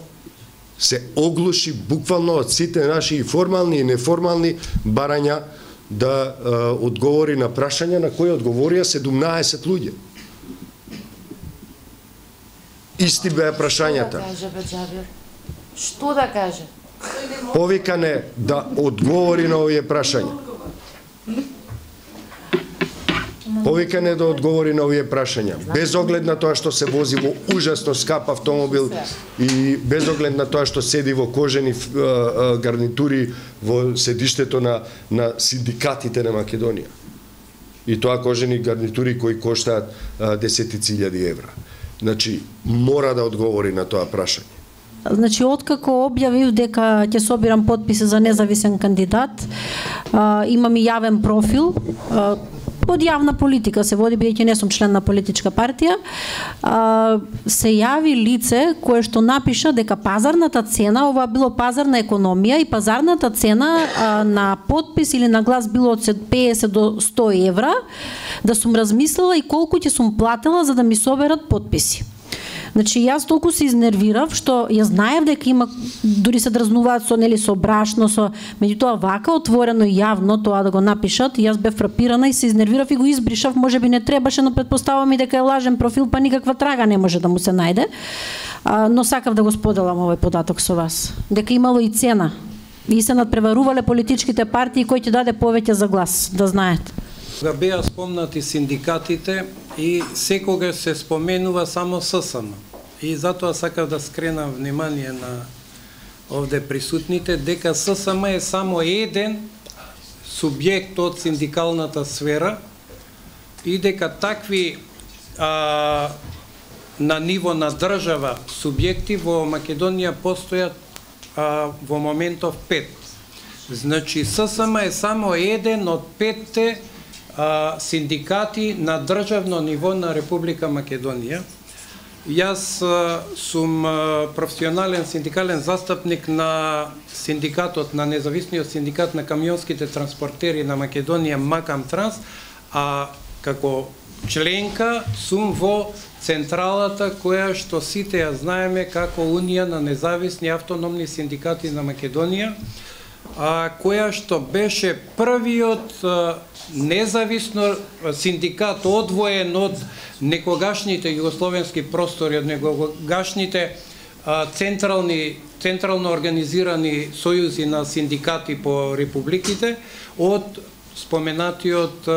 се оглуши буквално од сите наши и формални и неформални барања да а, одговори на прашања на кои одговорија седумнаесет луѓе. Исти беа прашањата. Што да каже? Повикан е да одговори на овие прашања. Повикан е да одговори на овие прашања. Без оглед на тоа што се вози во ужасно скап автомобил и без оглед на тоа што седи во кожени гарнитури во седиштето на, на синдикатите на Македонија. И тоа кожени гарнитури кои коштаат десетици илјади евра. Значи, мора да одговори на тоа прашање. Значи, откако објавив дека ќе собирам потписи за независен кандидат, а, имам и јавен профил, а, од јавна политика се води, бидејќи не сум член на политичка партија, а, се јави лице кое што напиша дека пазарната цена, ова било пазарна економија, и пазарната цена а, на потпис или на глас било од педесет до сто евра, да сум размислила и колку ќе сум платила за да ми соберат потписи. Значи, јас толку се изнервирав, што ја знаев дека има, дури се дразнуваат со, нели, со брашно, со, меѓутоа вака отворено и јавно тоа да го напишат, и јас бев фрапирана и се изнервирав и го избришав, можеби не требаше, но предпоставам и дека е лажен профил, па никаква трага не може да му се најде. А, но сакав да го споделам овој податок со вас, дека имало и цена и се надпреварувале политичките партии кои ќе даде повеќе за глас, да знаете. Да беа спомнати синдикатите и секогаш се споменува само ССМ. И затоа сакав да скренам внимание на овде присутните дека ССМ е само еден субјект од синдикалната сфера и дека такви а, на ниво на држава субјекти во Македонија постојат а, во моментов пет. Значи ССМ е само еден од петте а, синдикати на државно ниво на Република Македонија. Јас а, сум а, професионален синдикален застапник на синдикатот, на независниот синдикат на камионските транспортери на Македонија, Макам Транс, а како членка сум во централата која што сите ја знаеме како Унија на независни автономни синдикати на Македонија, а, која што беше првиот а, независно синдикат одвоен од некогашните југословенски простори, од некогашните а, централни централно организирани сојузи на синдикати по републиките од споменатиот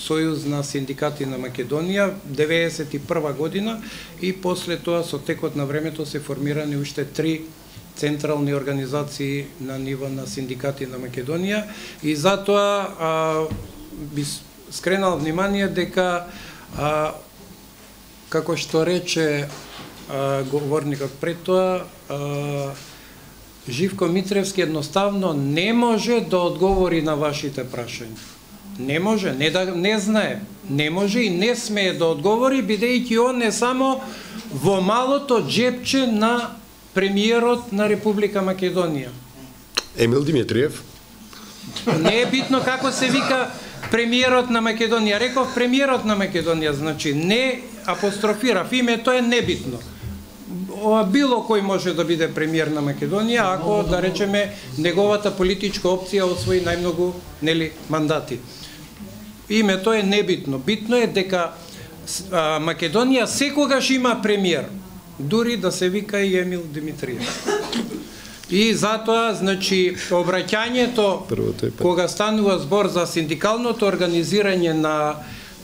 Сојуз на синдикати на Македонија деветесет и прва година и после тоа со текот на времето се формирани уште три централни организации на ниво на синдикати на Македонија и затоа а, би скренал внимание дека а, како што рече а, говорникот пред тоа, а, Живко Митревски едноставно не може да одговори на вашите прашања. Не може, не да не знае, не може и не смее да одговори, бидејќи он е само во малото джепче на премиерот на Република Македонија. Емил Димитриев. Не е битно како се вика премиерот на Македонија. Реков премиерот на Македонија, значи не апострофирав, името е небитно. Било кој може да биде премиер на Македонија, ако, да речеме, неговата политичка опција освои најмногу, нели, мандати. Името е небитно. Битно е дека а, Македонија секогаш има премиер, дури да се вика и Емил Димитриев. И затоа, значи, обраќањето, кога станува збор за синдикалното организирање на,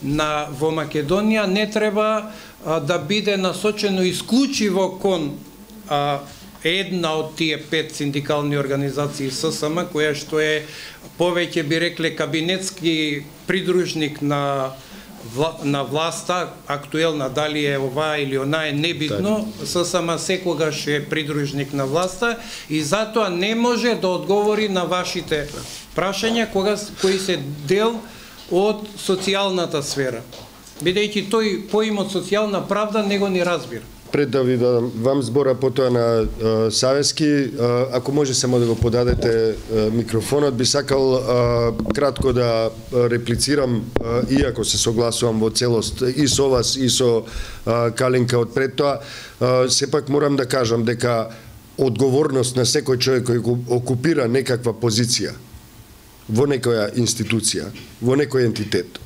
на во Македонија, не треба а, да биде насочено исклучиво кон а, една од тие пет синдикални организации ССМ, која што е повеќе би рекле кабинетски придружник на вла, на власта, актуелна, дали е ова или она е небитно, ССМ секогаш е придружник на власта и затоа не може да одговори на вашите прашања кога кои се дел од социјалната сфера. Бидејќи тој поимот социјална правда него не разбира. Пред да ви дадам вам збора потоа на а, Савески, а, ако може само да го подадете а, микрофонот, би сакал а, кратко да реплицирам, а, иако се согласувам во целост и со вас и со а, Калинка од пред тоа, а, сепак морам да кажам дека одговорност на секој човек кој го окупира некаква позиција во некоја институција, во некој ентитет,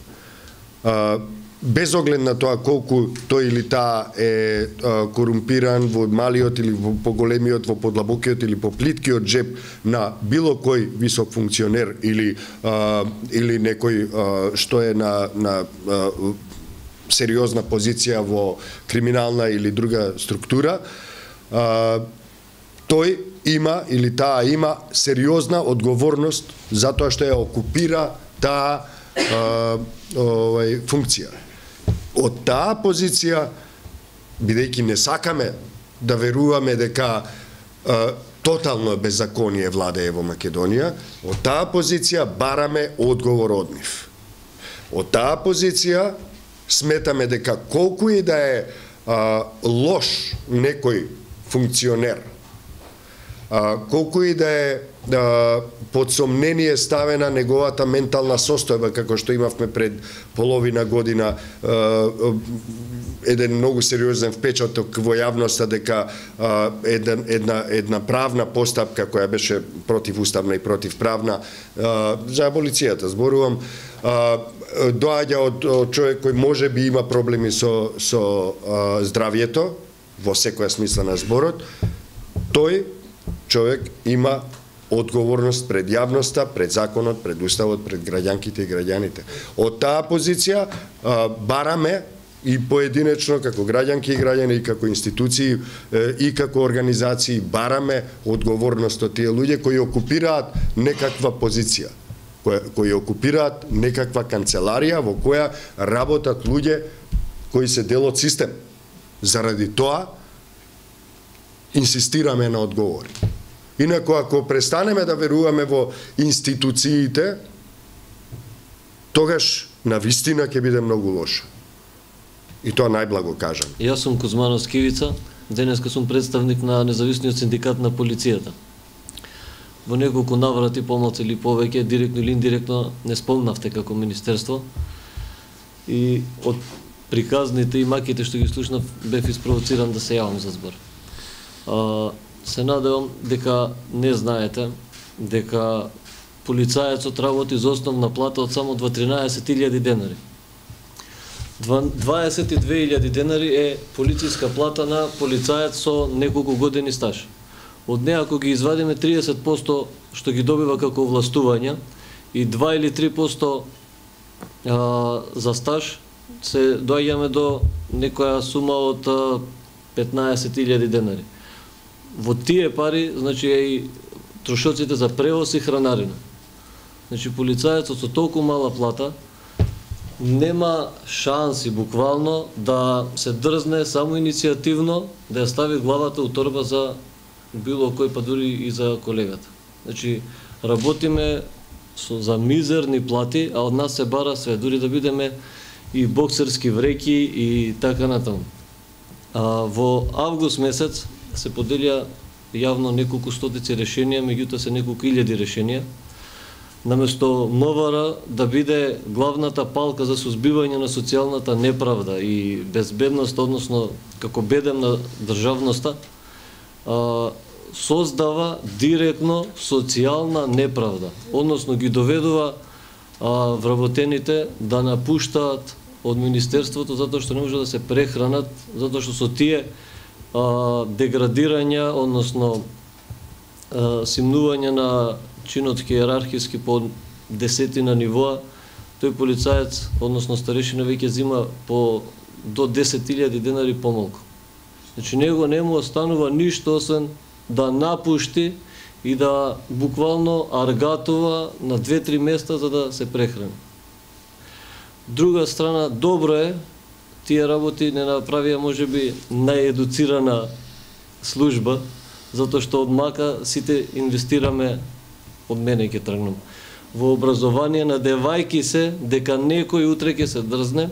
а, без оглед на тоа колку тој или таа е а, корумпиран во малиот или во поголемиот, во подлабокиот или по плиткиот джеб на било кој висок функционер или а, или некој а, што е на на а, сериозна позиција во криминална или друга структура, а, тој има или таа има сериозна одговорност за тоа што ја окупира таа а, овај функција. Од таа позиција, бидејќи не сакаме да веруваме дека а, тотално беззаконие владее во Македонија, од таа позиција бараме одговор од нив. Од таа позиција сметаме дека колку и да е а, лош некој функционер, а, колку и да е да, под сомнение ставена неговата ментална состојба, како што имавме пред половина година, еден многу сериозен впечаток во јавноста дека една, една, една правна постапка која беше противуставна и противправна, за аболицијата зборувам, доаѓа од, од човек кој може би има проблеми со, со здравјето, во секоја смисла на зборот. Тој човек има одговорност пред јавноста, пред законот, пред уставот, пред граѓанките и граѓаните. Од таа позиција а, бараме и поединечно како граѓанки и граѓани, и како институции и како организации бараме одговорност од тие луѓе кои окупираат некаква позиција, кои, кои окупираат некаква канцеларија во која работат луѓе кои се дел од систем. Заради тоа инсистираме на одговори. Инако, ако престанеме да веруваме во институциите, тогаш на вистина ќе биде многу лошо. И тоа најблаго кажам. Јас сум Кузманов Скивица, денеска сум представник на независниот синдикат на полицијата. Во неколку наврати, помалку или повеќе, директно или индиректно, не спомнавте како министерство. И од приказните и маките што ги слушнав, бев испровоциран да се јавам за збор. А, се надевам дека не знаете дека полицајецот работи за основна плата од само тринаесет илјади денари. дваесет и две илјади денари е полициска плата на полицаец со неколку години стаж. Од неа ако ги извадиме триесет проценти што ги добива како властувања и два или три проценти а, за стаж, се доаѓаме до некоја сума од петнаесет илјади денари. Во тие пари, значи, е и трошоците за превоз и хранарина. Значи, полицајецот со толку мала плата нема шанси буквално да се дрзне само иницијативно да ја стави главата у торба за било кој, па дури и за колегата. Значи, работиме со, за мизерни плати, а од нас се бара све, дури да бидеме и боксерски вреки и така натаму. А, во август месец се поделија јавно неколку стотици решенија, меѓутоа се неколку илјади решенија. Наместо МВР да биде главната палка за сузбивање на социјалната неправда и безбедност, односно како бедем на државноста, а, создава директно социјална неправда, односно ги доведува а, вработените да напуштаат од Министерството затоа што не може да се прехранат, затоа што со тие а, деградирања, односно а, симнување на чинот хиерархиски по десетина нивоа, тој полицаец, односно старешина, веќе зима по до десет илјади денари помалку. Значи, него не му останува ништо освен да напушти и да буквално аргатува на две-три места за да се прехрани. Друга страна, добро е, тие работи не направија можеби наједуцирана служба, затоа што од мака сите инвестираме, од мене ќе тргнам, во образование, надевајки се дека некој утре ќе се дрзне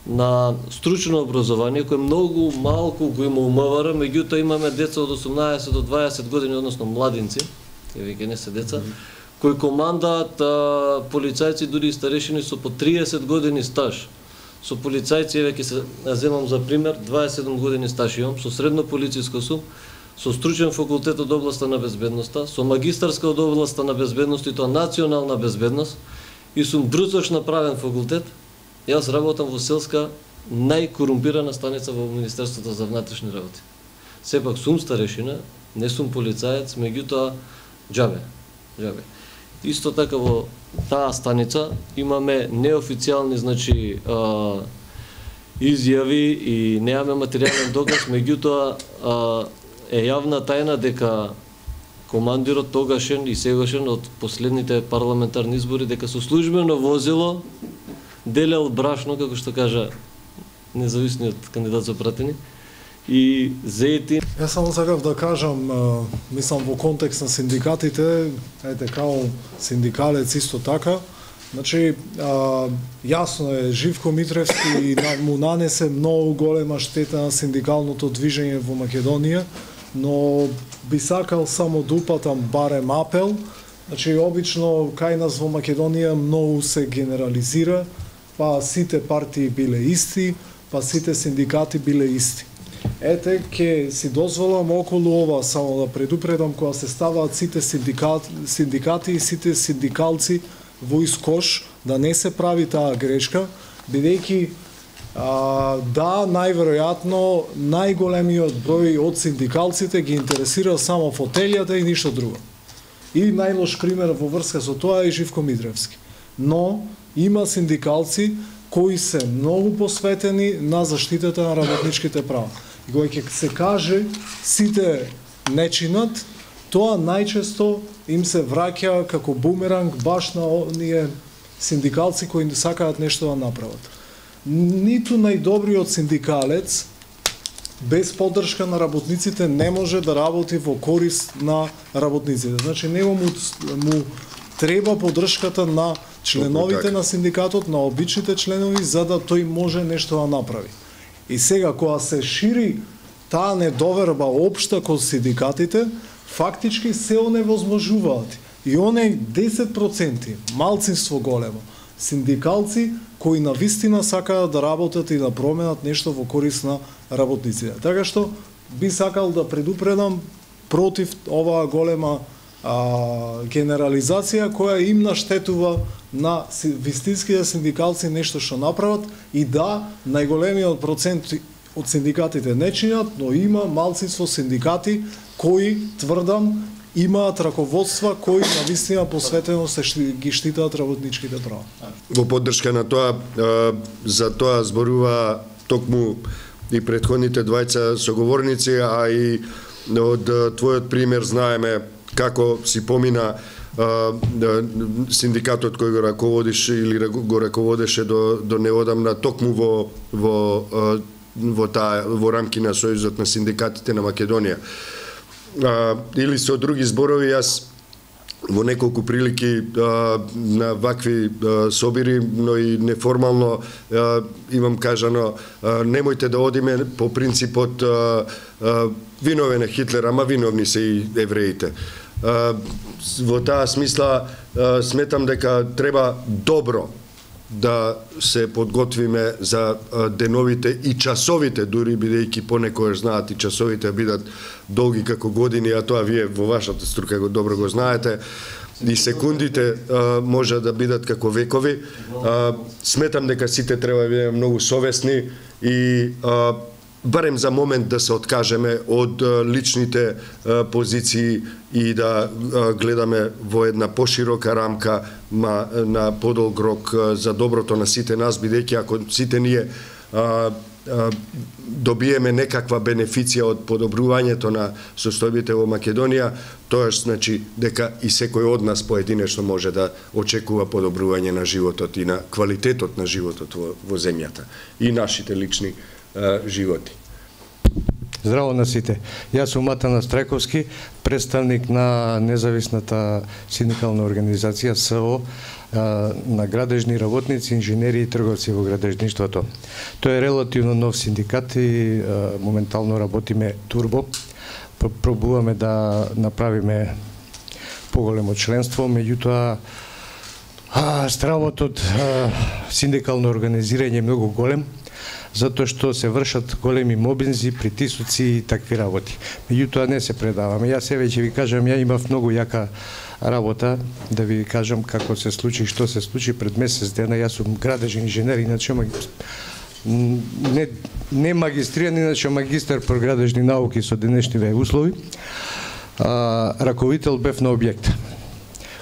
на стручно образование, кој многу малку го има у МВР, меѓутоа имаме деца од осумнаесет до дваесет години, односно младинци, тие веќе не се деца, кои командаат а, полицајци, дури и старешини со по триесет години стаж. Со полицајци, веќе се земам за пример, дваесет и седум години стаж имам, со средно полициско сум, со стручен факултет од областа на безбедноста, со магистарска од областа на безбедност и тоа национална безбедност, и сум брзош направен факултет. Јас работам во селска најкорумпирана станица во Министерството за внатрешни работи. Сепак сум старешина, не сум полицаец, меѓутоа џабе, џабе. Исто така во таа станица имаме неофицијални, значи, а, изјави и немаме материјален доказ, меѓутоа а, е јавна тајна дека командирот тогашен и сегашен од последните парламентарни избори дека со службено возило делел брашно, како што кажа независниот кандидат за пратени, и зети. Јас само сакав да кажам, мислам во контекст на синдикатите, ете као синдикалец исто така, значи а, јасно е Живко Митревски му нанесе многу голема штета на синдикалното движење во Македонија, но би сакал само да упатам барем апел. Значи обично кај нас во Македонија многу се генерализира, па сите партии биле исти, па сите синдикати биле исти. Ете, ке си дозволам околу ова само да предупредам, кога се ставаат сите синдикати, синдикати и сите синдикалци во искош, да не се прави таа грешка, бидејќи а, да, најверојатно најголемиот број од синдикалците ги интересира само фотелјата и ништо друго. И најлош пример во врска со тоа е Живко Митревски. Но има синдикалци кои се многу посветени на заштитата на работничките права. И кога ќе се каже сите не чинат, тоа најчесто им се враќа како бумеранг баш на оние синдикалци кои сакаат нешто да направат. Ниту најдобриот синдикалец без поддршка на работниците не може да работи во корист на работниците. Значи него му, му треба поддршката на членовите на синдикатот, на обичните членови, за да тој може нешто да направи. И сега, кога се шири таа недоверба општа кон синдикатите, фактички се оневозможуваат. И оне десет проценти, малцинство големо, синдикалци кои навистина сакаат да работат и да променат нешто во корист на работниците. Така што би сакал да предупредам против оваа голема а, генерализација која им наштетува на вистинските синдикалци нешто што направат, и да, најголемиот процент од синдикатите не чинат, но има малцинство синдикати кои, тврдам, имаат раководства кои навистина посветено се ги штитаат работничките права. Во поддршка на тоа, за тоа зборува токму и претходните двајца соговорници, а и од твојот пример знаеме како си помина синдикатот кој го раководиш или го раководеше до до неодамна токму во во во таа во рамки на Сојузот на синдикатите на Македонија. А, или со други зборови, јас во неколку прилики а, на вакви а, собири, но и неформално а, имам кажано, а, немојте да одиме по принципот а, а, виновен е Хитлер, ама виновни се и евреите. А, во таа смисла а, сметам дека треба добро да се подготвиме за деновите и часовите, дури бидејќи понекогаш знаат и часовите бидат долги како години, а тоа вие во вашата струка го добро го знаете, и секундите а, може да бидат како векови. А, сметам дека сите треба да бидеме многу совесни и а, барем за момент да се откажеме од личните позиции и да гледаме во една поширока рамка на подолг рок за доброто на сите нас, бидејќи ако сите ние добиеме некаква бенефиција од подобрувањето на состојбите во Македонија, тоа значи дека и секој од нас поединечно може да очекува подобрување на животот и на квалитетот на животот во, во земјата и нашите лични животи. Здраво на сите. Јас сум Матана Страјковски, представник на независната синдикална организација С О на градежни работници, инженери и трговци во градежништвото. Тој е релативно нов синдикат и моментално работиме турбо. Пробуваме да направиме поголемо членство, меѓутоа стравот од синдикално организирање е многу голем, затоа што се вршат големи мобинзи, притисоци и такви работи. Меѓутоа не се предаваме. Јас еве ќе ви кажам, ја имав многу јака работа, да ви кажам како се случи, што се случи пред месец дена. Јас сум градежен инженер, иначе не, не магистриран, иначе магистар по градежни науки со денешниве услови. А, раковител бев на објект.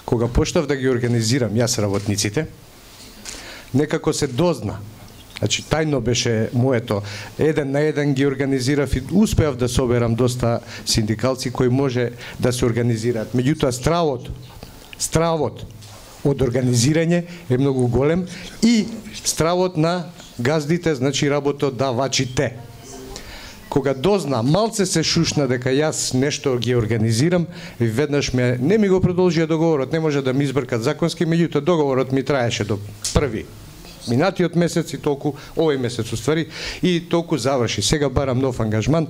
Кога почнав да ги организирам јас работниците, некако се дозна. Значи, тајно беше моето. Еден на еден ги организирав и успеав да соберам доста синдикалци кои може да се организираат. Меѓутоа, стравот, стравот од организирање е многу голем и стравот на газдите, значи работодавачите. Кога дозна, малце се шушна дека јас нешто ги организирам, и веднаш ме, не ми го продолжија договорот, не може да ми избркат законски, меѓутоа договорот ми траеше до први минатиот месец и толку, овој месец уствари, и толку заврши. Сега барам нов ангажман,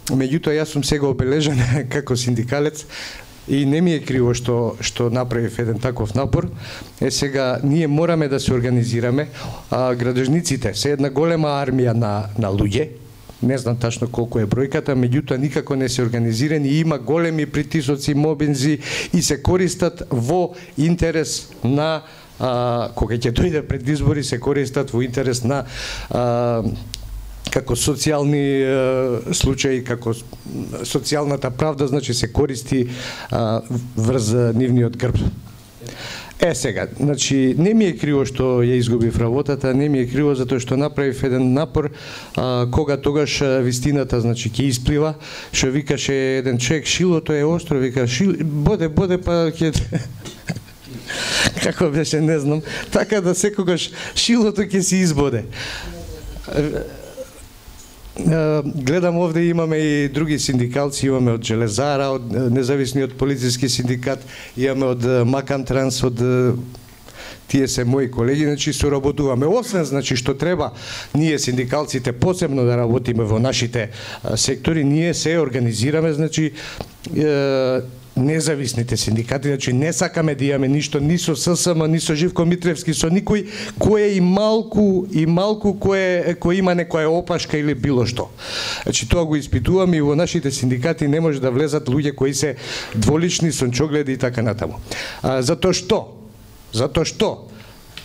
меѓутоа јас сум сега обележен како синдикалец и не ми е криво што што направив еден таков напор. Е сега ние мораме да се организираме, а градежниците се една голема армија на на луѓе. Не знам тачно колку е бројката, меѓутоа никако не се организирани и има големи притисоци, мобинзи и се користат во интерес на а, кога ќе дојде пред избори, се користат во интерес на а, како социјални а, случаи, како социјалната правда, значи се користи а, врз нивниот грб. Е сега, значи не ми е криво што ја изгубив работата, не ми е криво затоа што направив еден напор, а, кога тогаш вистината значи ќе исплива, што викаше еден човек, шилото е остро, вика шил, боде боде па ќе како беше, не знам, така да секогаш шилото ќе се избоде. Гледам овде имаме и други синдикалци, имаме од Железара, од независниот полициски синдикат, имаме од Макантранс, од тие се мои колеги, значи соработуваме. Освен значи што треба ние синдикалците посебно да работиме во нашите сектори, ние се организираме, значи е, независните синдикати, значи не сакаме да имаме ништо ни со С С М, ни со Живко Митревски, со никој кој и малку и малку кој кој има некоја опашка или било што. Значи тоа го испитуваме и во нашите синдикати не може да влезат луѓе кои се дволични, сончогледи и така натаму. А, затоа што? Затоа што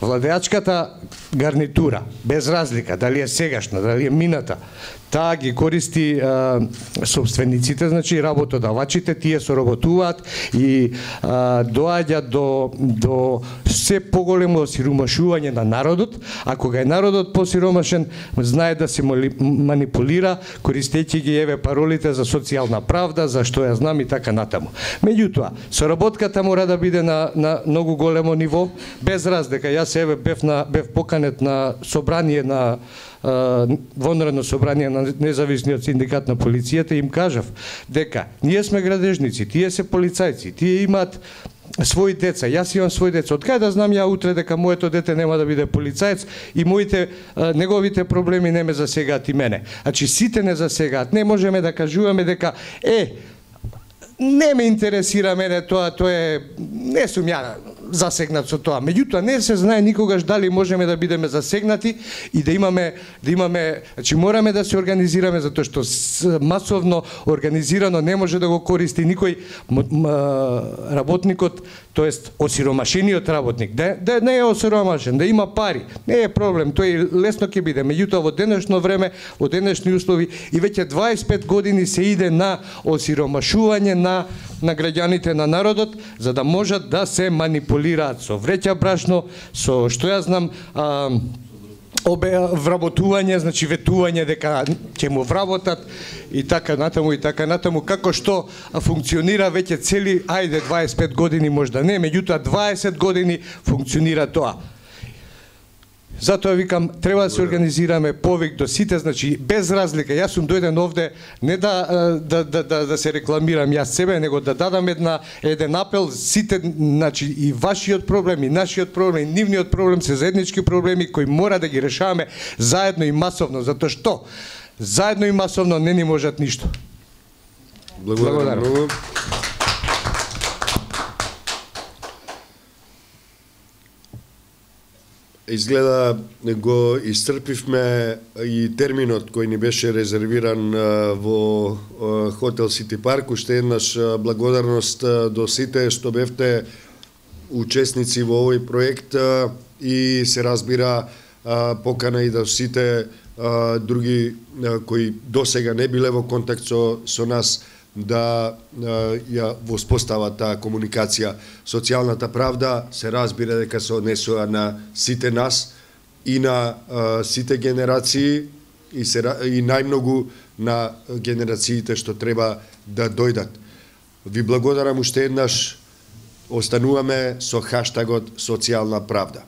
Владеачката гарнитура, без разлика, дали е сегашна, дали е мината, таа ги користи а, собствениците, значи работодавачите, тие соработуваат и а, доаѓа до, до се поголемо осиромашување на народот, а кога е народот посиромашен, знае да се манипулира, користејќи ги еве паролите за социјална правда, за што ја знам и така натаму. Меѓутоа, соработката мора да биде на, на многу големо ниво, без разлика. Јас еве бев, на, бев поканет на собрание на вонредно собрание на независниот синдикат на полицијата и им кажав дека ние сме градежници, тие се полицајци, тие имаат своји деца, јас имам своји деца. Од кај да знам ја утре дека моето дете нема да биде полицаец и моите неговите проблеми не ме засегаат и мене. Значи сите не засегаат. Не можеме да кажуваме дека е не ме интересира мене тоа, тоа е не сум ја засегнат со тоа. Меѓутоа не се знае никогаш дали можеме да бидеме засегнати и да имаме да имаме, значи мораме да се организираме затоа што масовно организирано не може да го користи никој работникот, тоест осиромашениот работник. Да, да не е осиромашен, да има пари, не е проблем, тој лесно ќе биде. Меѓутоа во денешно време, во денешни услови и веќе дваесет и пет години се иде на осиромашување на на граѓаните на народот, за да можат да се манипулираат со вреќа брашно, со што ја знам, а, обе вработување, значи ветување дека ќе му вработат и така натаму и така натаму, како што функционира веќе цели, ајде дваесет и пет години можда не, меѓутоа дваесет години функционира тоа. Затоа викам, треба да се организираме повик до сите, значи без разлика. Јас сум дојден овде не да да да да, да се рекламирам јас себе, него да дадам една еден апел сите, значи и вашиот проблем и нашиот проблем, и нивниот проблем се заеднички проблеми кои мора да ги решаваме заедно и масовно, затоа што заедно и масовно не ни можат ништо. Благодарам многу. Изгледа го исцрпивме и терминот кој ни беше резервиран во хотел Сити Парк. Уште еднаш благодарност до сите што бевте учесници во овој проект и се разбира покана и до сите други кои досега не биле во контакт со, со нас да ја воспостават таа комуникација. Социјалната правда се разбира дека се однесува на сите нас и на а, сите генерации и, се, и најмногу на генерациите што треба да дојдат. Ви благодарам уште еднаш. Остануваме со хаштагот социјална правда.